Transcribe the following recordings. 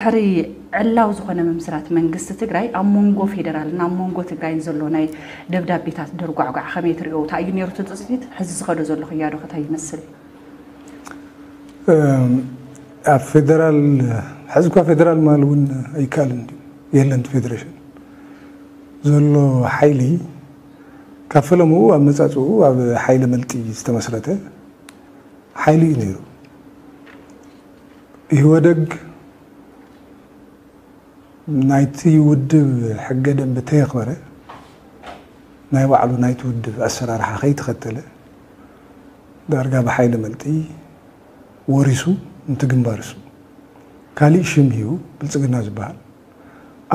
ድሕሪ ዕላው ዝኾነ ምምስራት መንግስቲ ትግራይ ኣብ መንጎ ፌደራልን ኣብ መንጎ ትግራይን ዘሎ ናይ ደብዳቤታት ድርጓዕጓዕ ከመይ ትሪኦ? እንታይ እዩ ነይሩ እቲ ትፅቢት? ሕዚ ዝኸዶ ዘሎ ክያዶ ከታይ ይመስል? ኣብ ፌደራል ሕዚ እኳ ፌደራል ማል እውን ኣይከኣልን እዩ። የለን እቲ ፌደሬሽን ዘሎ ሓይሊ ካብ ፈለምኡ ኣብ መጻጽኡ ኣብ ሓይሊ መልጢ ዝተመስረተ ሓይሊ እዩ ነይሩ። ኢህወደግ ናይቲ ውድብ ሕገ ደንቢ ተየኽበረ ናይ ባዕሉ ናይቲ ውድብ ኣሰራርሓ ከይተኸተለ ዳርጋ ብሓይሊ መልጢ ወሪሱ፣ ነቲ ግንባር እሱ ካሊእ ሽም ሂቡ ብልፅግና ዝበሃል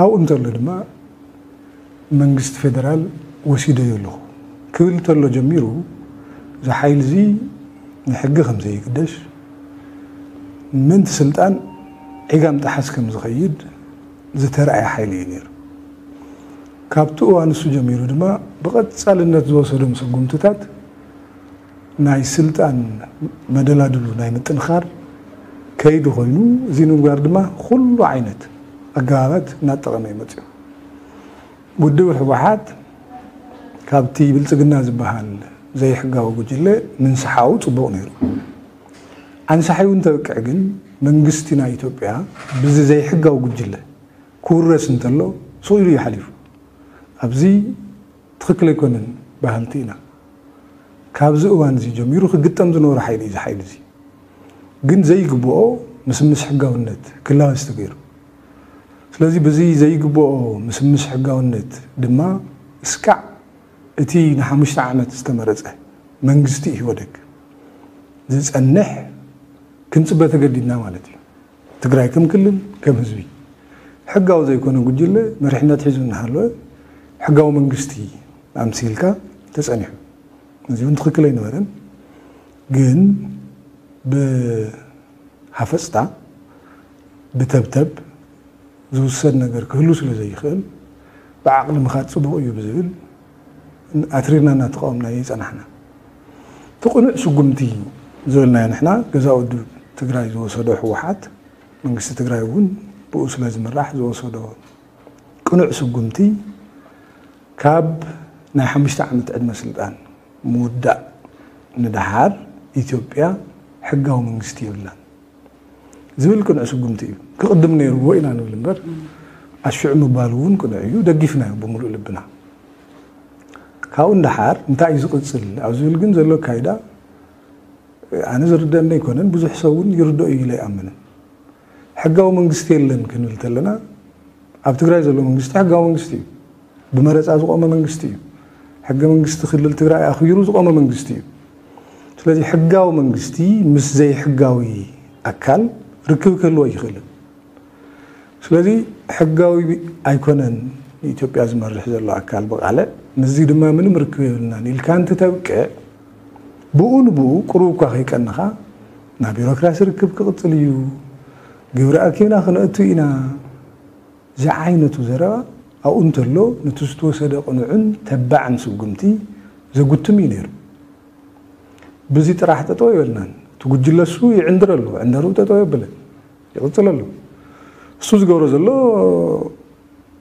ኣብኡ እንተሎ ድማ መንግስቲ ፌደራል ወሲደዮ ኣለኹ ክብል እንተሎ ጀሚሩ እዚ ሓይሊ እዚ ንሕጊ ከም ዘይግደስ ምእንቲ ስልጣን ዒጋም ጠሓስ ከም ዝኸይድ ዝተረኣየ ሓይሊ እዩ ነይሩ። ካብቲ እዋን እሱ ጀሚሩ ድማ ብቐፃልነት ዝወሰዶም ስጉምትታት ናይ ስልጣን መደላድሉ ናይ ምጥንኻር ከይዲ ኮይኑ እዚ ንምግባር ድማ ኩሉ ዓይነት ኣገባባት እናጠቐመ እዩ መፅኡ። ውድብ ህወሓት ካብቲ ብልፅግና ዝበሃል ዘይሕጋዊ ጉጅለ ምንስሓው ፅቡቕ ነይሩ። ኣንሳሒው እንተብቅዕ ግን መንግስቲ ናይ ኢትዮጵያ ብዚ ዘይሕጋዊ ጉጅለ ክውረስ እንተሎ ስቕ ኢሉ እዩ ሓሊፉ። ኣብዚ ትኽክል ኣይኮነን በሃልቲ ኢና። ካብዚ እዋን እዚ ጀሚሩ ክግጠም ዝነበሮ ሓይሊ እዩ። እዚ ሓይሊ እዚ ግን ዘይግብኦ ምስምስ ሕጋውነት ክላወስ ተገይሩ። ስለዚ ብዚ ዘይግብኦ ምስምስ ሕጋውነት ድማ እስካዕ እቲ ንሓሙሽተ ዓመት ዝተመረፀ መንግስቲ ኢህወደግ ዝፀንሕ ክንፅበ ተገዲድና ማለት እዩ። ትግራይ ከም ክልል ከም ህዝቢ ሕጋዊ ዘይኮነ ጉጅለ መሪሕነት ሒዙ እናሃለወ ሕጋዊ መንግስቲ ኣምሲልካ ተፀኒሑ። እዚ እውን ትኽክል ኣይነበረን። ግን ብሃፈፅታ ብተብተብ ዝውሰድ ነገር ክህሉ ስለ ዘይኽእል ብዓቕሊ ምኻድ ፅቡቕ እዩ ብዝብል ኣትሪርና እናተቃወምናዮ ይፀናሕና። እቲ ቅኑዕ ስጉምቲ ዝበልናዮ ንሕና ገዛ ውድብ ትግራይ ዝወሰዶ ህወሓት መንግስቲ ትግራይ እውን ብኡ ስለ ዝምራሕ ዝወሰዶ ቅኑዕ ስጉምቲ ካብ ናይ ሓሙሽተ ዓመት ዕድመ ስልጣን ምውዳእ ንደሓር ኢትዮጵያ ሕጋዊ መንግስቲ የብላን ዝብል ቅኑዕ ስጉምቲ እዩ። ክቕድም ነይርዎ ኢና ንብል እምበር ኣሽዑ ምባሉ እውን ቅኑዕ እዩ። ደጊፍናዮ ብምሉእ ልብና። ካብኡ ንደሓር እንታይ እዩ ዝቕፅል ኣብ ዝብል ግን ዘሎ ኣካይዳ ኣነ ዝርደአኒ ኣይኮነን። ብዙሕ ሰብ እውን ይርድኦ እዩ ኢለ ኣይኣምንን። ሕጋዊ መንግስቲ የለን ክንብል ተለና ኣብ ትግራይ ዘሎ መንግስቲ ሕጋዊ መንግስቲ እዩ። ብመረፃ ዝቆመ መንግስቲ እዩ። ሕገ መንግስቲ ክልል ትግራይ ኣኽቢሩ ዝቆመ መንግስቲ እዩ። ስለዚ ሕጋዊ መንግስቲ ምስ ዘይሕጋዊ ኣካል ርክብ ክህልዎ ኣይኽእልን። ስለዚ ሕጋዊ ኣይኮነን ንኢትዮጵያ ዝመርሕ ዘሎ ኣካል ብቃልዕ ምስዚ ድማ ምንም ርክብ የብልናን ኢልካ እንትተብቅዕ ብኡ ንብኡ ቁሩብ እኳ ከይቀንኻ ናብ ቢሮክራሲ ርክብ ክቕፅል እዩ፣ ግብሪ ኣኪብና ክነእቱ ኢና ዝዓይነቱ ዘረባ ኣብኡ እንተሎ ነቲ ዝተወሰደ ቅኑዕን ተባዕን ስጉምቲ ዘጉትም እዩ ነይሩ። ብዚ ጥራሕ ጠጠው የበልናን እቲ ጉጅለ እሱ ይዕንድር ኣሎ። ዕንደሩ ጠጠው የብልን ይቕፅል ኣሎ። እሱ ዝገብሮ ዘሎ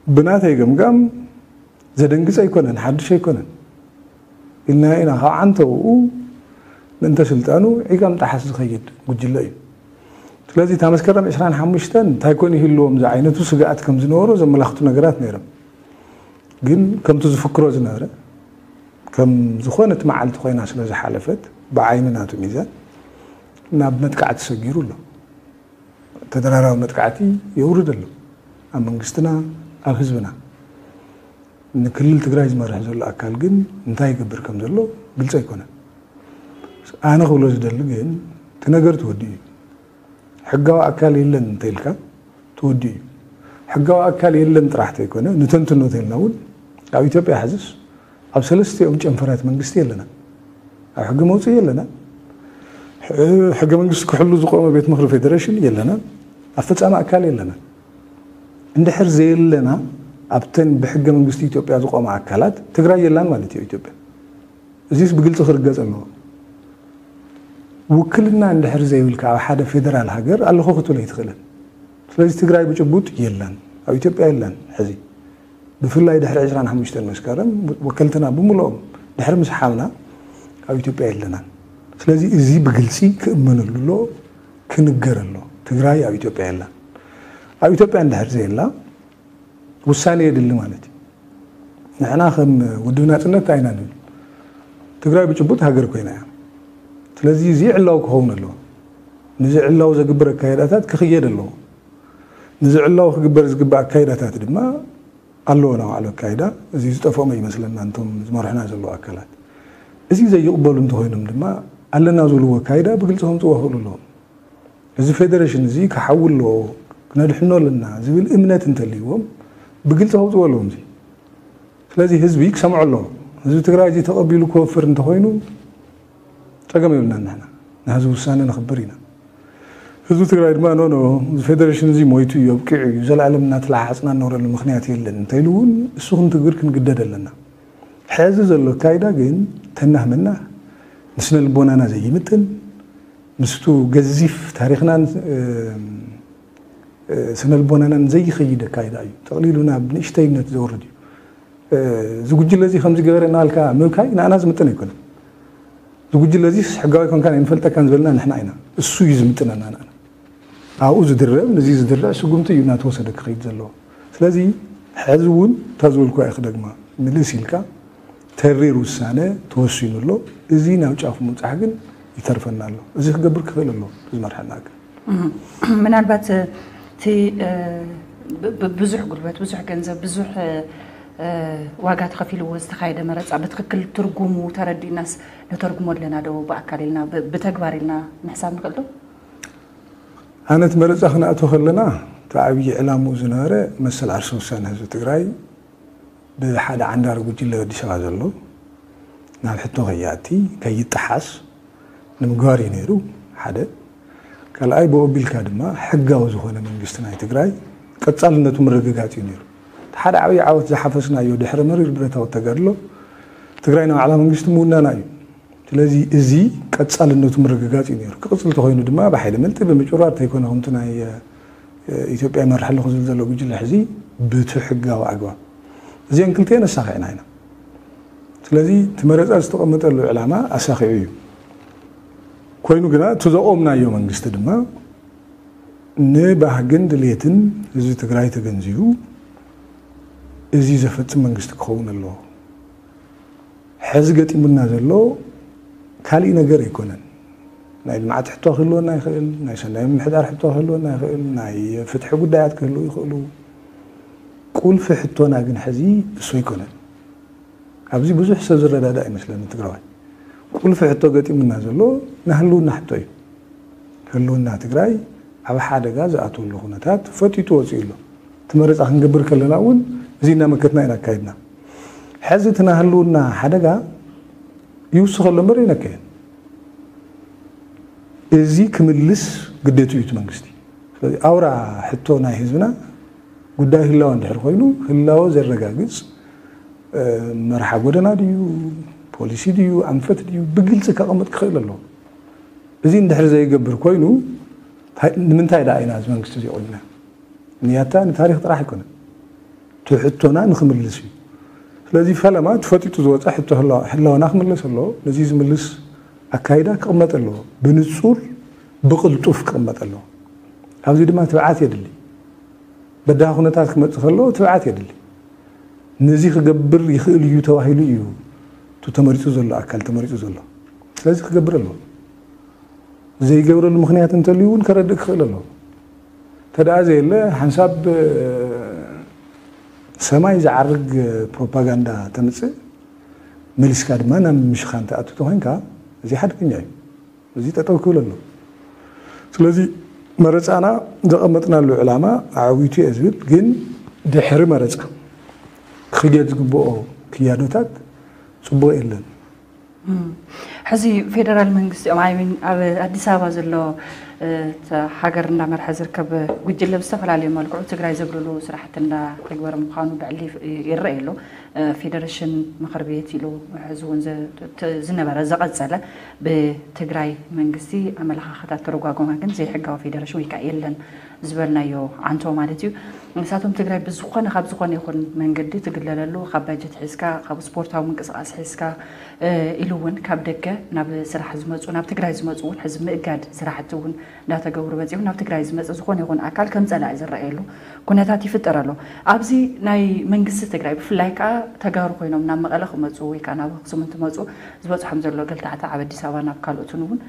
ብናተይ ገምጋም ዘደንግፅ ኣይኮነን፣ ሓድሽ ኣይኮነን ኢልና ኢና ካብ ዓንተውኡ ምእንተ ስልጣኑ ዒጋም ጠሓስ ዝኸይድ ጉጅለ እዩ። ስለዚ እታ መስከረም ዕስራን ሓሙሽተን እንታይ ኮን ይህልዎም ዝዓይነቱ ስግኣት ከም ዝነበሮ ዘመላኽቱ ነገራት ነይሮም። ግን ከምቲ ዝፍክሮ ዝነበረ ከም ዝኾነት መዓልቲ ኮይና ስለ ዝሓለፈት ብዓይኒ ናቱ ሚዛን ናብ መጥቃዕቲ ሰጊሩ ኣሎ። ተደራራቢ መጥቃዕቲ የውርድ ኣሎ ኣብ መንግስትና ኣብ ህዝብና። ንክልል ትግራይ ዝመርሕ ዘሎ ኣካል ግን እንታይ ይገብር ከም ዘሎ ግልፂ ኣይኮነን። ኣነ ክብሎ ዝደሊ ግን እቲ ነገር ተወዲኡ እዩ። ሕጋዊ ኣካል የለን እንተኢልካ ተወዲኡ እዩ። ሕጋዊ ኣካል የለን ጥራሕ ተይኮነ ንተንትኖ ተልና እውን ኣብ ኢትዮጵያ ሕዝስ ኣብ ሰለስቲኦም ጨንፈራት መንግስቲ የለና። ኣብ ሕጊ መውፅኢ የለና። ሕገ መንግስቲ ክሕሉ ዝቆመ ቤት ምክሪ ፌደሬሽን የለና። ኣፈፃሚ ኣካል የለና። እንድሕር ዘየለና ኣብተን ብሕገ መንግስቲ ኢትዮጵያ ዝቆማ ኣካላት ትግራይ የላን ማለት እዩ ኢትዮጵያ። እዚስ ብግልፂ ክርገፅ ኣለዎ። ውክልና እንድሕር ዘይብልካ ኣብ ሓደ ፌደራል ሃገር ኣለኹ ክትብል ኣይትኽእልን። ስለዚ ትግራይ ብጭቡጥ የላን፣ ኣብ ኢትዮጵያ የላን። ሕዚ ብፍላይ ድሕሪ ዕስራን ሓሙሽተን መስከረም ወከልትና ብምልኦም ድሕሪ ምስሓብና ኣብ ኢትዮጵያ የለናን። ስለዚ እዚ ብግልፂ ክእመነሉ ኣሎ፣ ክንገር ኣሎ። ትግራይ ኣብ ኢትዮጵያ የላን። ኣብ ኢትዮጵያ እንድሕር ዘየላ ውሳኔ የድሊ ማለት እዩ። ንሕና ከም ውድብ ናፅነት ኣይና ንብል። ትግራይ ብጭቡጥ ሃገር ኮይና እያ። ስለዚ እዚ ዕላው ክኸውን ኣለዎ። ንዚ ዕላው ዘግብር ኣካይዳታት ክኽየድ ኣለዎ። ንዚ ዕላው ክግበር ዝግባእ ኣካይዳታት ድማ ኣለዎ፣ ናይ ባዕሉ ኣካይዳ። እዚ ዝጠፍኦም ኣይመስለና፣ እንቶም ዝመርሑና ዘለዉ ኣካላት። እዚ ዘይቕበሉ እንተኾይኖም ድማ ኣለና ዝብልዎ ኣካይዳ ብግልፂ ከምፅዎ ክኽእሉ ኣለዎም። እዚ ፌደሬሽን እዚ ክሓዊ ኣለዎ፣ ክነድሕኖ ኣለና ዝብል እምነት እንተልይዎም ብግልፂ ከውፅዎ ኣለዎም። እዚ ስለዚ ህዝቢ ክሰምዖ ኣለዎ። ህዝቢ ትግራይ እዚ ተቐቢሉ ክወፍር እንተኾይኑ ፀገም የብልናን። ንሕና ንህዝቢ ውሳነ ነኽብር ኢና። ህዝቢ ትግራይ ድማ ኖ ኖ፣ እዚ ፌደሬሽን እዚ ሞይቱ እዩ፣ ኣብቂዑ እዩ፣ ዘላለም እናተለሓሓፅና እንነብረሉ ምክንያት የለን እንተኢሉ እውን እሱ ክንትግብር ክንግደድ ኣለና። ሕዚ ዘሎ ኣካይዳ ግን ተናህ መናህ፣ ንስነ ልቦናና ዘይምጥን፣ ምስቱ ገዚፍ ታሪኽናን ስነ ልቦናናን ዘይኸይድ ኣካይዳ እዩ። ጠቕሊሉ ናብ ንእሽተይነት ዘውርድ እዩ። እዚ ጉጅለ እዚ ከምዚ ገበረ እናልካ ምብካይ ንኣና ዝምጥን ኣይኮነን። እዚ ጉጅለ እዚ ሕጋዊ ኮንካን ኣይንፈልጠካን ዝበልና ንሕና ኢና። እሱ እዩ ዝምጥነና ንኣና። ኣብኡ ዝድረ፣ ንዚ ዝድረ ስጉምቲ እዩ እናተወሰደ ክኸይድ ዘለዎ። ስለዚ ሕዚ እውን እታ ዝበልኩ እየ ክደግማ፣ ምልስ ኢልካ ተሪር ውሳነ ተወሲኑ ኣሎ። እዚ ናብ ጫፍ ምብፃሕ ግን ይተርፈና ኣሎ። እዚ ክገብር ክኽእል ኣለዎ ዝመርሐና ኣካል። ምናልባት እቲ ብዙሕ ጉልበት፣ ብዙሕ ገንዘብ፣ ብዙሕ ዋጋ ተኸፊልዎ ዝተኻየደ መረፃ ብትኽክል ትርጉሙ ተረዲእናስ ነተርጉሞ ኣለና ዶ? ብኣካል ኢልና ብተግባር ኢልና ምሕሳብ ንኽእል ዶ? ኣነ እቲ መረፃ ክነእቶ ከለና እቲ ዓብዪ ዕላምኡ ዝነበረ መሰል ዓርሰ ውሳነ ህዝቢ ትግራይ ብሓደ ዓንዳሪ ጉጅለ ኣዲስ ኣበባ ዘሎ ናብ ሕቶ ከይኣቲ ከይጠሓስ ንምግባር እዩ ነይሩ። ሓደ ካልኣይ ብኡ ኣቢልካ ድማ ሕጋዊ ዝኾነ መንግስቲ ናይ ትግራይ ቀፃልነቱ ምርግጋፅ እዩ ነይሩ። እቲ ሓደ ዓብዪ ዓወት ዝሓፈስናዮ ድሕሪ መሪር ብረታዊ ተጋድሎ ትግራይ ናይ ባዕላ መንግስቲ ምውናና እዩ። ስለዚ እዚ ቀፃልነቱ ምርግጋፅ እዩ ነይሩ። ክቕፅል ተኾይኑ ድማ ብሓይሊ ምልጢ ብምጭራር ተይኮነ ከምቲ ናይ ኢትዮጵያ ይመርሕ ኣለኹ ዝብል ዘሎ ጉጅለ ሕዚ ብቲ ሕጋዊ ኣግባብ እዚአን ክልቲአን ኣሳኺዕና ኢና። ስለዚ እቲ መረፃ ዝተቐመጠሉ ዕላማ ኣሳኺዑ እዩ። ኮይኑ ግና እቲ ዘቖምናዮ መንግስቲ ድማ ንባህግን ድሌትን ህዝቢ ትግራይ ተገንዚቡ እዚ ዘፈፅም መንግስቲ ክኸውን ኣለዎ። ሕዚ ገጢሙና ዘሎ ካሊእ ነገር ኣይኮነን። ናይ ልምዓት ሕቶ ክህልወና ይኽእል፣ ናይ ሰናይ ምምሕዳር ሕቶ ክህልወና ይኽእል፣ ናይ ፍትሒ ጉዳያት ክህልዉ ይኽእሉ። ቁልፊ ሕቶና ግን ሕዚ እሱ ኣይኮነን። ኣብዚ ብዙሕ ሰብ ዝረዳዳእ ኣይመስለኒ ትግራዋይ። ቁልፊ ሕቶ ገጢሙና ዘሎ ናይ ህልውና ሕቶ እዩ። ህልውና ትግራይ ኣብ ሓደጋ ዝኣትወሉ ኩነታት ፈጢጡ ወፂኡ ኣሎ። እቲ መረፃ ክንገብር ከለና እውን እዚ እናመከትና ኢና ኣካይድና። ሕዚ እቲ ናይ ህልውና ሓደጋ ይውስኸ ኣሎ እምበር ኣይነከየን። እዚ ክምልስ ግዴቱ እዩ እቲ መንግስቲ። ስለዚ ኣውራ ሕቶ ናይ ህዝብና ጉዳይ ህላወ እንድሕር ኮይኑ ህላወ ዘረጋግፅ መርሓ ጎደና ድዩ፣ ፖሊሲ ድዩ፣ ኣንፈት ድዩ ብግልፂ ከቐምጥ ክኽእል ኣለዎ። እዚ እንድሕር ዘይገብር ኮይኑ ንምንታይ ደኣ ኢና እዚ መንግስቲ እዚ ቆምና? ንያታ ንታሪኽ ጥራሕ ኣይኮነን፣ እቲ ሕቶና ንክምልስ እዩ። ስለዚ ፈለማ ተፈጢጡ ዝወፀ ሕቶ ህላወና ክምለስ ኣለዎ። ነዚ ዝምልስ ኣካይዳ ክቕመጥ ኣለዎ። ብንፁር ብቕልጡፍ ክቕመጥ ኣለዎ። ኣብዚ ድማ ትብዓት የድሊ። በዳሂ ኩነታት ክመፅእ ከለዎ ትብዓት የድሊ። ነዚ ክገብር ይኽእል እዩ ተባሂሉ እዩ እቲ ተመሪፁ ዘሎ ኣካል ተመሪፁ ዘሎ። ስለዚ ክገብር ኣለዎ። ዘይገብረሉ ምኽንያት እንተልዩ እውን ከረድእ ክኽእል ኣለዎ። ተደኣ ዘየለ ሓንሳብ ሰማይ ዝዓርግ ፕሮፓጋንዳ ተምፅእ መሊስካ ድማ ናብ ምሽኻን ትኣቱ ተኾይንካ እዚ ሓደገኛ እዩ። እዚ ጠጠው ክብል ኣሎ። ስለዚ መረፃና ዘቐመጥናሉ ዕላማ ኣዕዊቱ እየ ዝብል፣ ግን ድሕሪ መረፃ ክየድ ዝግብኦ ክያዶታት ፅቡቕ የለን። ሕዚ ፌደራል መንግስቲ ኦም ኣይሚን ኣብ ኣዲስ ኣበባ ዘሎ ሃገር እንዳመርሐ ዝርከብ ጉጅለ ብዝተፈላለዩ መልክዑ ትግራይ ዘግልሉ ስራሕቲ እንዳተግበረ ምዃኑ ብዕሊ ይረአ ኣሎ። ፌደሬሽን ምኽር ቤት ኢሉ ሕዚ እውን ዝነበረ ዘቐፀለ ብትግራይ መንግስቲ ኣመለኻኸታት ተረጓጎማ ግን ዘይሕጋዊ ፌደሬሽን ወይ ከዓ የለን ዝበልናዮ ዓንቶ ማለት እዩ። ንሳቶም ትግራይ ብዝኾነ፣ ካብ ዝኾነ ይኹን መንገዲ ትግለለሉ፣ ካብ ባጀት ሒዝካ፣ ካብ ስፖርታዊ ምንቅስቃስ ሒዝካ፣ ኢሉ እውን ካብ ደገ ናብ ስራሕ ዝመፁ፣ ናብ ትግራይ ዝመፁ እውን ሕዚ ምእጋድ ስራሕቲ እውን እንዳተገብሩ መፂኡ ናብ ትግራይ ዝመፅእ ዝኾነ ይኹን ኣካል ከም ፀላኢ ዝረኣየሉ ኩነታት ይፍጠር ኣሎ። ኣብዚ ናይ መንግስቲ ትግራይ ብፍላይ ከዓ ተጋሩ ኮይኖም ናብ መቐለ ክመፁ ወይ ከዓ ናብ ኣክሱም እንትመፁ ዝበፅሖም ዘሎ ገልታዕታዕ ኣብ ኣዲስ ኣበባ ናብ ካልኦትን እውን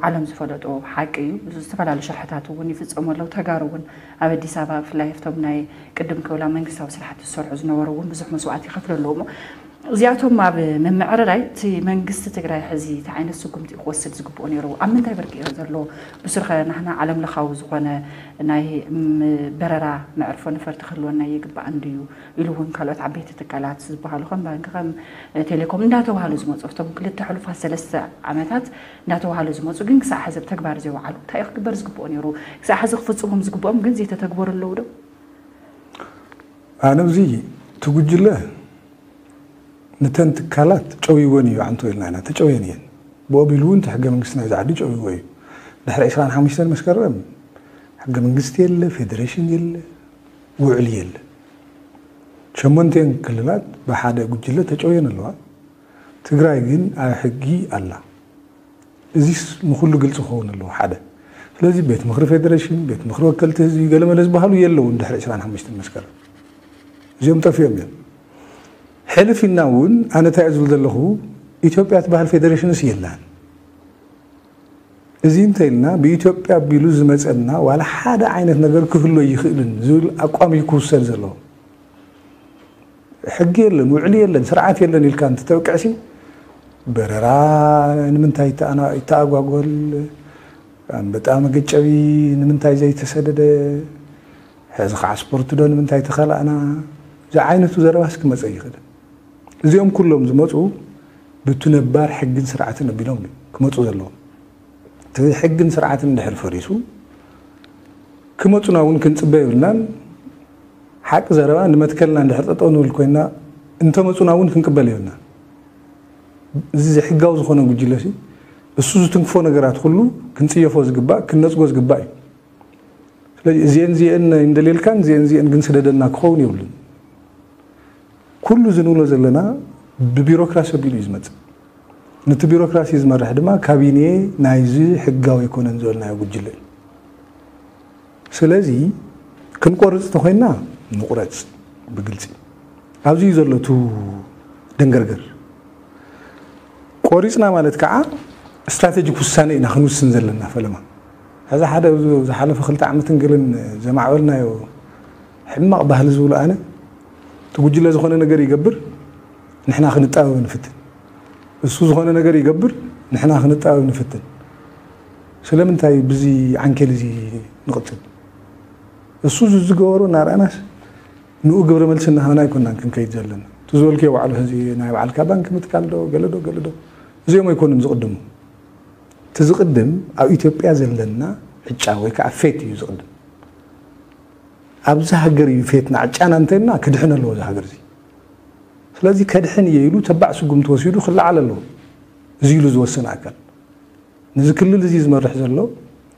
ዓለም ዝፈለጦ ሓቂ እዩ። ዝተፈላለዩ ሽርሕታት እውን ይፍፀሙ ኣለዉ። ተጋሩ እውን ኣብ ኣዲስ ኣበባ ብፍላይ ኣብቶም ናይ ቅድም ክብላ መንግስታዊ ስራሕቲ ዝሰርሑ ዝነበሩ እውን ብዙሕ መስዋዕቲ ይኸፍሉ ኣለዉ። እዚኣቶም ኣብ ምምዕርራይ እቲ መንግስቲ ትግራይ ሕዚ እንታይ ዓይነት ስጉምቲ ክወስድ ዝግብኦ ነይሩ? ኣብ ምንታይ ብርቂ እዩ ዘሎ? ብሱር ኸ ናህና ዓለም ለኻዊ ዝኾነ ናይ በረራ መዕርፎ ነፈርቲ ክህልወና ይግባእ እንድዩ ኢሉ እውን ካልኦት ዓበይቲ ትካላት ዝበሃሉ ከም ባንክ ከም ቴሌኮም እንዳተባሃሉ ዝመፁ ኣብቶም ክልተ ሕሉፋት ሰለስተ ዓመታት እንዳተባሃሉ ዝመፁ ግን ክሳዕ ሕዚ ኣብ ተግባር ዘይወዓሉ እንታይ እዩ ክግበር ዝግብኦ ነይሩ? ክሳዕ ሕዚ ክፍፅሞም ዝግብኦም ግን ዘይተተግበሩ ኣለዉ ዶ? ኣነ እዚ እቲ ጉጅለ ንተን ትካላት ጨውይወን እዩ ዓንቶ ኢልና ኢና። ተጨውየን እየን። ብኦቢሉ እውን እቲ ሕገ መንግስቲ ናይዚ ዓዲ ጨውይዎ እዩ። ድሕሪ ዕስራን ሓሙሽተን መስከረም ሕገ መንግስቲ የለ፣ ፌደሬሽን የለ፣ ውዕል የለ። ሸሞንቴን ክልላት ብሓደ ጉጅለ ተጨውየን ኣለዋ። ትግራይ ግን ኣብ ሕጊ ኣላ። እዚስ ንኹሉ ግልፂ ክኸውን ኣለዎ። ሓደ ስለዚ ቤት ምኽሪ ፌደሬሽን፣ ቤት ምኽሪ ወከልቲ ህዝቢ፣ ገለመለ ዝበሃሉ የለውን ድሕሪ ዕስራን ሓሙሽተን መስከረም እዚኦም ጠፊኦም እዮም። ሕልፍ ኢልና እውን ኣነ እንታይ እየ ዝብል ዘለኹ፣ ኢትዮጵያ ትበሃል ፌደሬሽንስ የላን። እዚ እንተኢልና ብኢትዮጵያ ኣቢሉ ዝመፀና ዋላ ሓደ ዓይነት ነገር ክህሉ ኣይኽእልን ዝብል ኣቋም እዩ ክውሰድ ዘለዎ። ሕጊ የለን፣ ውዕሊ የለን፣ ስርዓት የለን ኢልካ እንትተብቅዕሲ በረራ ንምንታይ ይተኣጓጎል? ኣንበጣ መገጨቢ ንምንታይ ዘይተሰደደ? ሕዚ ከዓ ስፖርት ዶ ንምንታይ ተኸላእና? እዚ ዓይነቱ ዘረባስ ክመፀ ይኽእል። እዚኦም ኩሎም ዝመፁ ብቱ ነባር ሕግን ስርዓትን ኣቢሎም ክመፁ ዘለዎም። እቲ ሕግን ስርዓትን እንድሕር ፈሪሱ ክመፁና እውን ክንፅበ የብልናን። ሓቂ ዘረባ ንመትከልና እንድሕር ጠጠው ንብል ኮይና እንተመፁና እውን ክንቅበል የብልናን። እዚ ዘይሕጋዊ ዝኾነ ጉጅለ ሲ እሱ ዝትንክፎ ነገራት ኩሉ ክንፅየፎ ዝግባእ ክንነፅጎ ዝግባእ እዩ። ስለዚ እዚአን እዚአን እንደልየልካን እዚአን እዚአን ግን ስደደና ክኸውን የብሉን። ኩሉ እዚ ንብሎ ዘለና ብቢሮክራሲ ኣቢሉ እዩ ዝመፅእ። ነቲ ቢሮክራሲ ዝመርሕ ድማ ካቢኔ ናይዚ ሕጋዊ ኣይኮነን ዝበልናዮ ጉጅለ እዩ። ስለዚ ክንቆርፅ ተኾይንና ንቑረፅ ብግልፂ። ኣብዚ እዩ ዘሎ እቲ ደንገርገር። ቆሪፅና ማለት ከዓ ስትራቴጂክ ውሳነ ኢና ክንውስን ዘለና ፈለማ። ሕዚ ሓደ ዝሓለፈ ክልተ ዓመትን ገለን ዘማዕበልናዮ ሕማቕ ባህሊ ዝብሎ ኣነ እቲ ጉጅለ ዝኾነ ነገር ይገብር ንሕና ክንጣበብ ንፍትን። እሱ ዝኾነ ነገር ይገብር ንሕና ክንጣበብ ንፍትን። ስለምንታይ ብዚ ዓንኬል እዚ ንቕፅል? እሱ ዝዝገበሩ እናረኣናስ ንኡ ግብረ መልሲ እናሃብና ኣይኮናን ክንከይድ ዘለና። እቲ ዝበልክዮ ባዕሉ ሕዚ ናይ ባዕልካ ባንክ ምትካል ዶ ገለ ዶ ገለ ዶ እዚኦም ኣይኮኑን ዝቕድሙ። እቲ ዝቕድም ኣብ ኢትዮጵያ ዘለና ዕጫ ወይ ከዓ ፌት እዩ ዝቕድም። ኣብዚ ሃገር እዩ ፌትና ዕጫና እንተልና ክድሕን ኣለዎ እዚ ሃገር እዚ። ስለዚ ከድሕን እየ ኢሉ ተባዕ ስጉምቲ ወሲዱ ክለዓል ኣለዎ። እዚ ኢሉ ዝወሰነ ኣካል ነዚ ክልል እዚ ዝመርሕ ዘሎ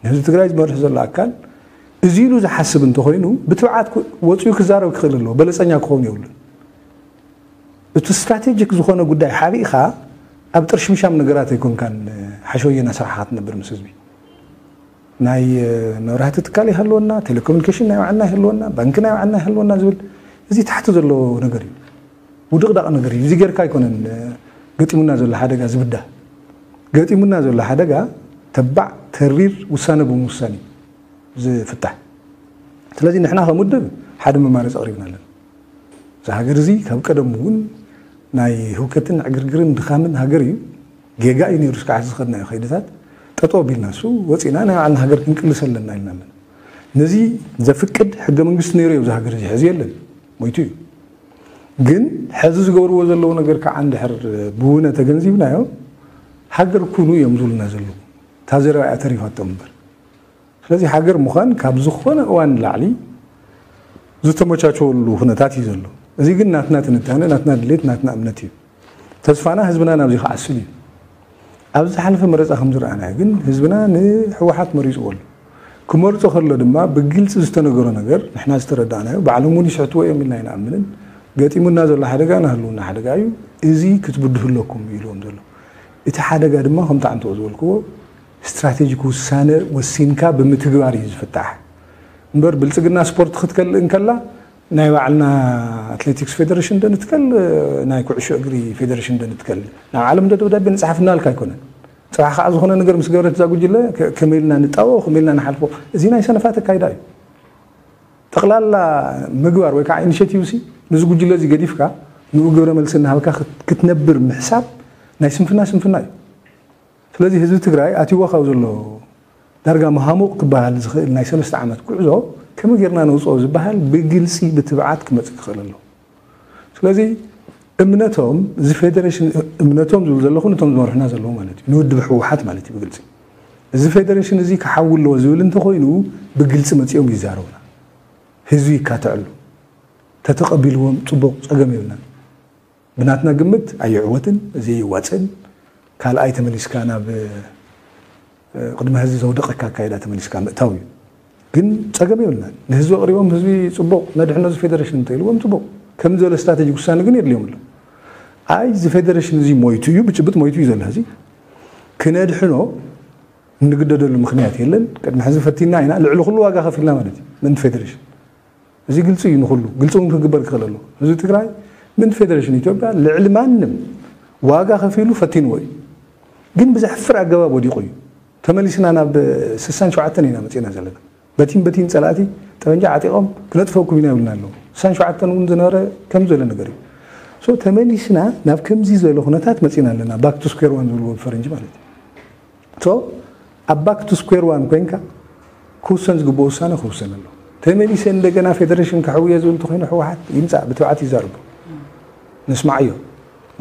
ንህዝቢ ትግራይ ዝመርሕ ዘሎ ኣካል እዚ ኢሉ ዝሓስብ እንተኾይኑ ብትብዓት ወፂኡ ክዛረብ ክኽእል ኣለዎ። በለፀኛ ክኸውን የብሉን። እቲ ስትራቴጂክ ዝኾነ ጉዳይ ሓቢእኻ ኣብ ጥርሽምሻም ነገራት ኣይኮንካን ሓሸወየና ስራሕኻ ትነብር ምስ ህዝቢ። ናይ መብራህቲ ትካል ይሃልወና፣ ቴሌኮሙኒኬሽን ናይ ባዕልና ይሃልወና፣ ባንኪ ናይ ባዕልና ይሃልወና ዝብል እዚ ታሕቲ ዘሎ ነገር እዩ። ውድቕዳቕ ነገር እዩ። እዚ ጌርካ ኣይኮነን ገጢሙና ዘሎ ሓደጋ ዝብዳህ። ገጢሙና ዘሎ ሓደጋ ተባዕ ተሪር ውሳነ ብምውሳን እዩ ዝፍታሕ። ስለዚ ንሕና ከም ውድብ ሓደ መማረፂ ኣቕሪብና ኣለና። እዚ ሃገር እዚ ካብ ቀደሙ እውን ናይ ህውከትን ዕግርግርን ድኻምን ሃገር እዩ። ጌጋ እዩ ነይሩ እስካዕ ዝኸድናዮ ከይድታት ጠጠው ኣቢልና እሱ ወፂና ናይ ባዕልና ሃገር ክንቅልስ ኣለና ኢልና ኣለና። ነዚ ዘፍቅድ ሕገ መንግስቲ ነይሩ እዩ። እዚ ሃገር እዚ ሕዚ የለን፣ ሞይቱ እዩ። ግን ሕዚ ዝገብርዎ ዘለዉ ነገር ከዓ እንድሕር ብውነ ተገንዚብናዮ ሃገር ኩኑ እዮም ዝብሉና ዘለዉ። እታ ዘረባ እያ ተሪፋቶም እምበር። ስለዚ ሃገር ምዃን ካብ ዝኾነ እዋን ንላዕሊ ዝተመቻቸወሉ ኩነታት እዩ ዘሎ። እዚ ግን ናትና ትንታነ፣ ናትና ድሌት፣ ናትና እምነት እዩ። ተስፋና ህዝብና ናብዚ ክዓስል እዩ። ኣብ ዝሓለፈ መረፃ ከም ዝረኣናዮ ግን ህዝብና ንህወሓት መሪፅዎ ኣሎ። ክመርጾ ከሎ ድማ ብግልጺ ዝተነገሮ ነገር ንሕና ዝተረዳእናዮ፣ ባዕሎም እውን ይስሕትዎ እዮም ኢልና ኣይንኣምንን። ገጢሙና ዘሎ ሓደጋ ናይ ህልውና ሓደጋ እዩ፣ እዚ ክትብድሁ ኣለኩም ኢልዎም ዘሎ። እቲ ሓደጋ ድማ ከምቲ ዓንተኦ ዝበልክዎ ስትራቴጂክ ውሳነ ወሲንካ ብምትግባር እዩ ዝፍታሕ። እምበር ብልጽግና ስፖርት ክትከልእ እንከላ ናይ ባዕልና ኣትሌቲክስ ፌደሬሽን ዶ ንትከል፣ ናይ ኩዕሾ እግሪ ፌደሬሽን ዶ ንትከል፣ ናብ ዓለም ዶ ደብዳቤ ንጽሓፍ እናልካ ኣይኮነን። ጽባሕ ከዓ ዝኾነ ነገር ምስ ገበረት እዛ ጉጅለ ከ-፣ ከመይ ኢልና ንጣበቦ፣ ከመይ ኢልና ንሓልፎ፣ እዚ ናይ ሰነፋት ኣካይዳ እዩ። ጠቕላላ ምግባር ወይ ከዓ ኢኒሼቲቭ ሲ፣ ነዚ ጉጅለ እዚ ገዲፍካ ንኡ ግብረ መልሲ እናሃብካ ክት-፣ ክትነብር ምሕሳብ ናይ ስንፍና ስንፍና እዩ። ስለዚ ህዝቢ ትግራይ ኣትይዎ ካብ ዘሎ ዳርጋ መሃሙቕ ክበሃል ዝኽእል ናይ ሰለስተ ዓመት ጉዕዞ ከመይ ጌርና ነውፅኦ ዝበሃል ብግልፂ ብትብዓት ክመፅእ ክኽእል ኣለዎ። ስለዚ እምነቶም፣ እዚ ፌደሬሽን እምነቶም ዝብል ዘለኹ ነቶም ዝመርሑና ዘለዉ ማለት እዩ፣ ንውድብ ህወሓት ማለት እዩ ብግልፂ። እዚ ፌደሬሽን እዚ ክሓዊ ኣለዎ ዝብል እንተኾይኑ ብግልፂ መፂኦም ይዛረቡና፣ ህዝቢ ይካትዐሉ። ተተቐቢልዎም ፅቡቕ፣ ፀገም የብልናን። ብናትና ግምት ኣየዕወትን፣ እዚ የዋፅእን። ካልኣይ ተመሊስካ ናብ፣ እ፣ ቅድሚ ህዝቢ ዘውደቐካ ኣካይዳ ተመሊስካ ምእታው እዩ። ግን ፀገም የብልናን። ንህዝቢ ኣቕሪቦም ህዝቢ ፅቡቕ ነድሕኖ እዚ ፌደሬሽን እንተኢልዎም ፅቡቕ። ከም ዝበለ ስትራቴጂክ ውሳነ ግን የድልዮም ኣሎ። ኣይ እዚ ፌደሬሽን እዚ ሞይቱ እዩ፣ ብጭብጥ ሞይቱ እዩ ዘሎ። እዚ ክነድሕኖ እንግደደሉ ምኽንያት የለን። ቅድሚ ሕዚ ፈቲና ኢና፣ ልዕሊ ኩሉ ዋጋ ከፊልና ማለት እዩ ምእንቲ ፌደሬሽን። እዚ ግልፂ እዩ ንኹሉ፣ ግልፂ እውን ክግበር ክኽእል ኣለዎ። ህዝቢ ትግራይ ምእንቲ ፌደሬሽን ኢትዮጵያ ልዕሊ ማንም ዋጋ ከፊሉ ፈቲንዎ እዩ። ግን ብዘሕፍር ኣገባብ ወዲቑ እዩ። ተመሊስና ናብ ስሳን ሸውዓተን ኢና መፂና ዘለና። በቲን በቲን ፀላእቲ ጠበንጃ ዓጢቖም ክነጥፈኩም ኢና ይብሉና ኣለዉ። ስሳን ሸውዓተን እውን ዝነበረ ከም ዝበለ ነገር እዩ። ሶ ተመሊስና ናብ ከምዚ ዝበለ ኩነታት መፂና ኣለና። ባክ ቱ ስኩዌር ዋን ዝብልዎ ብፈረንጂ ማለት እዩ። ሶ ኣብ ባክ ቱ ስኩዌር ዋን ኮይንካ ክውሰን ዝግብኦ ውሳነ ክውሰን ኣሎ። ተመሊሰ እንደገና ፌደሬሽን ከሕውየ ዝብል እንተኮይኑ ህወሓት ይምፃእ፣ ብትብዓት ይዛረቡ። ንስማዓዮ፣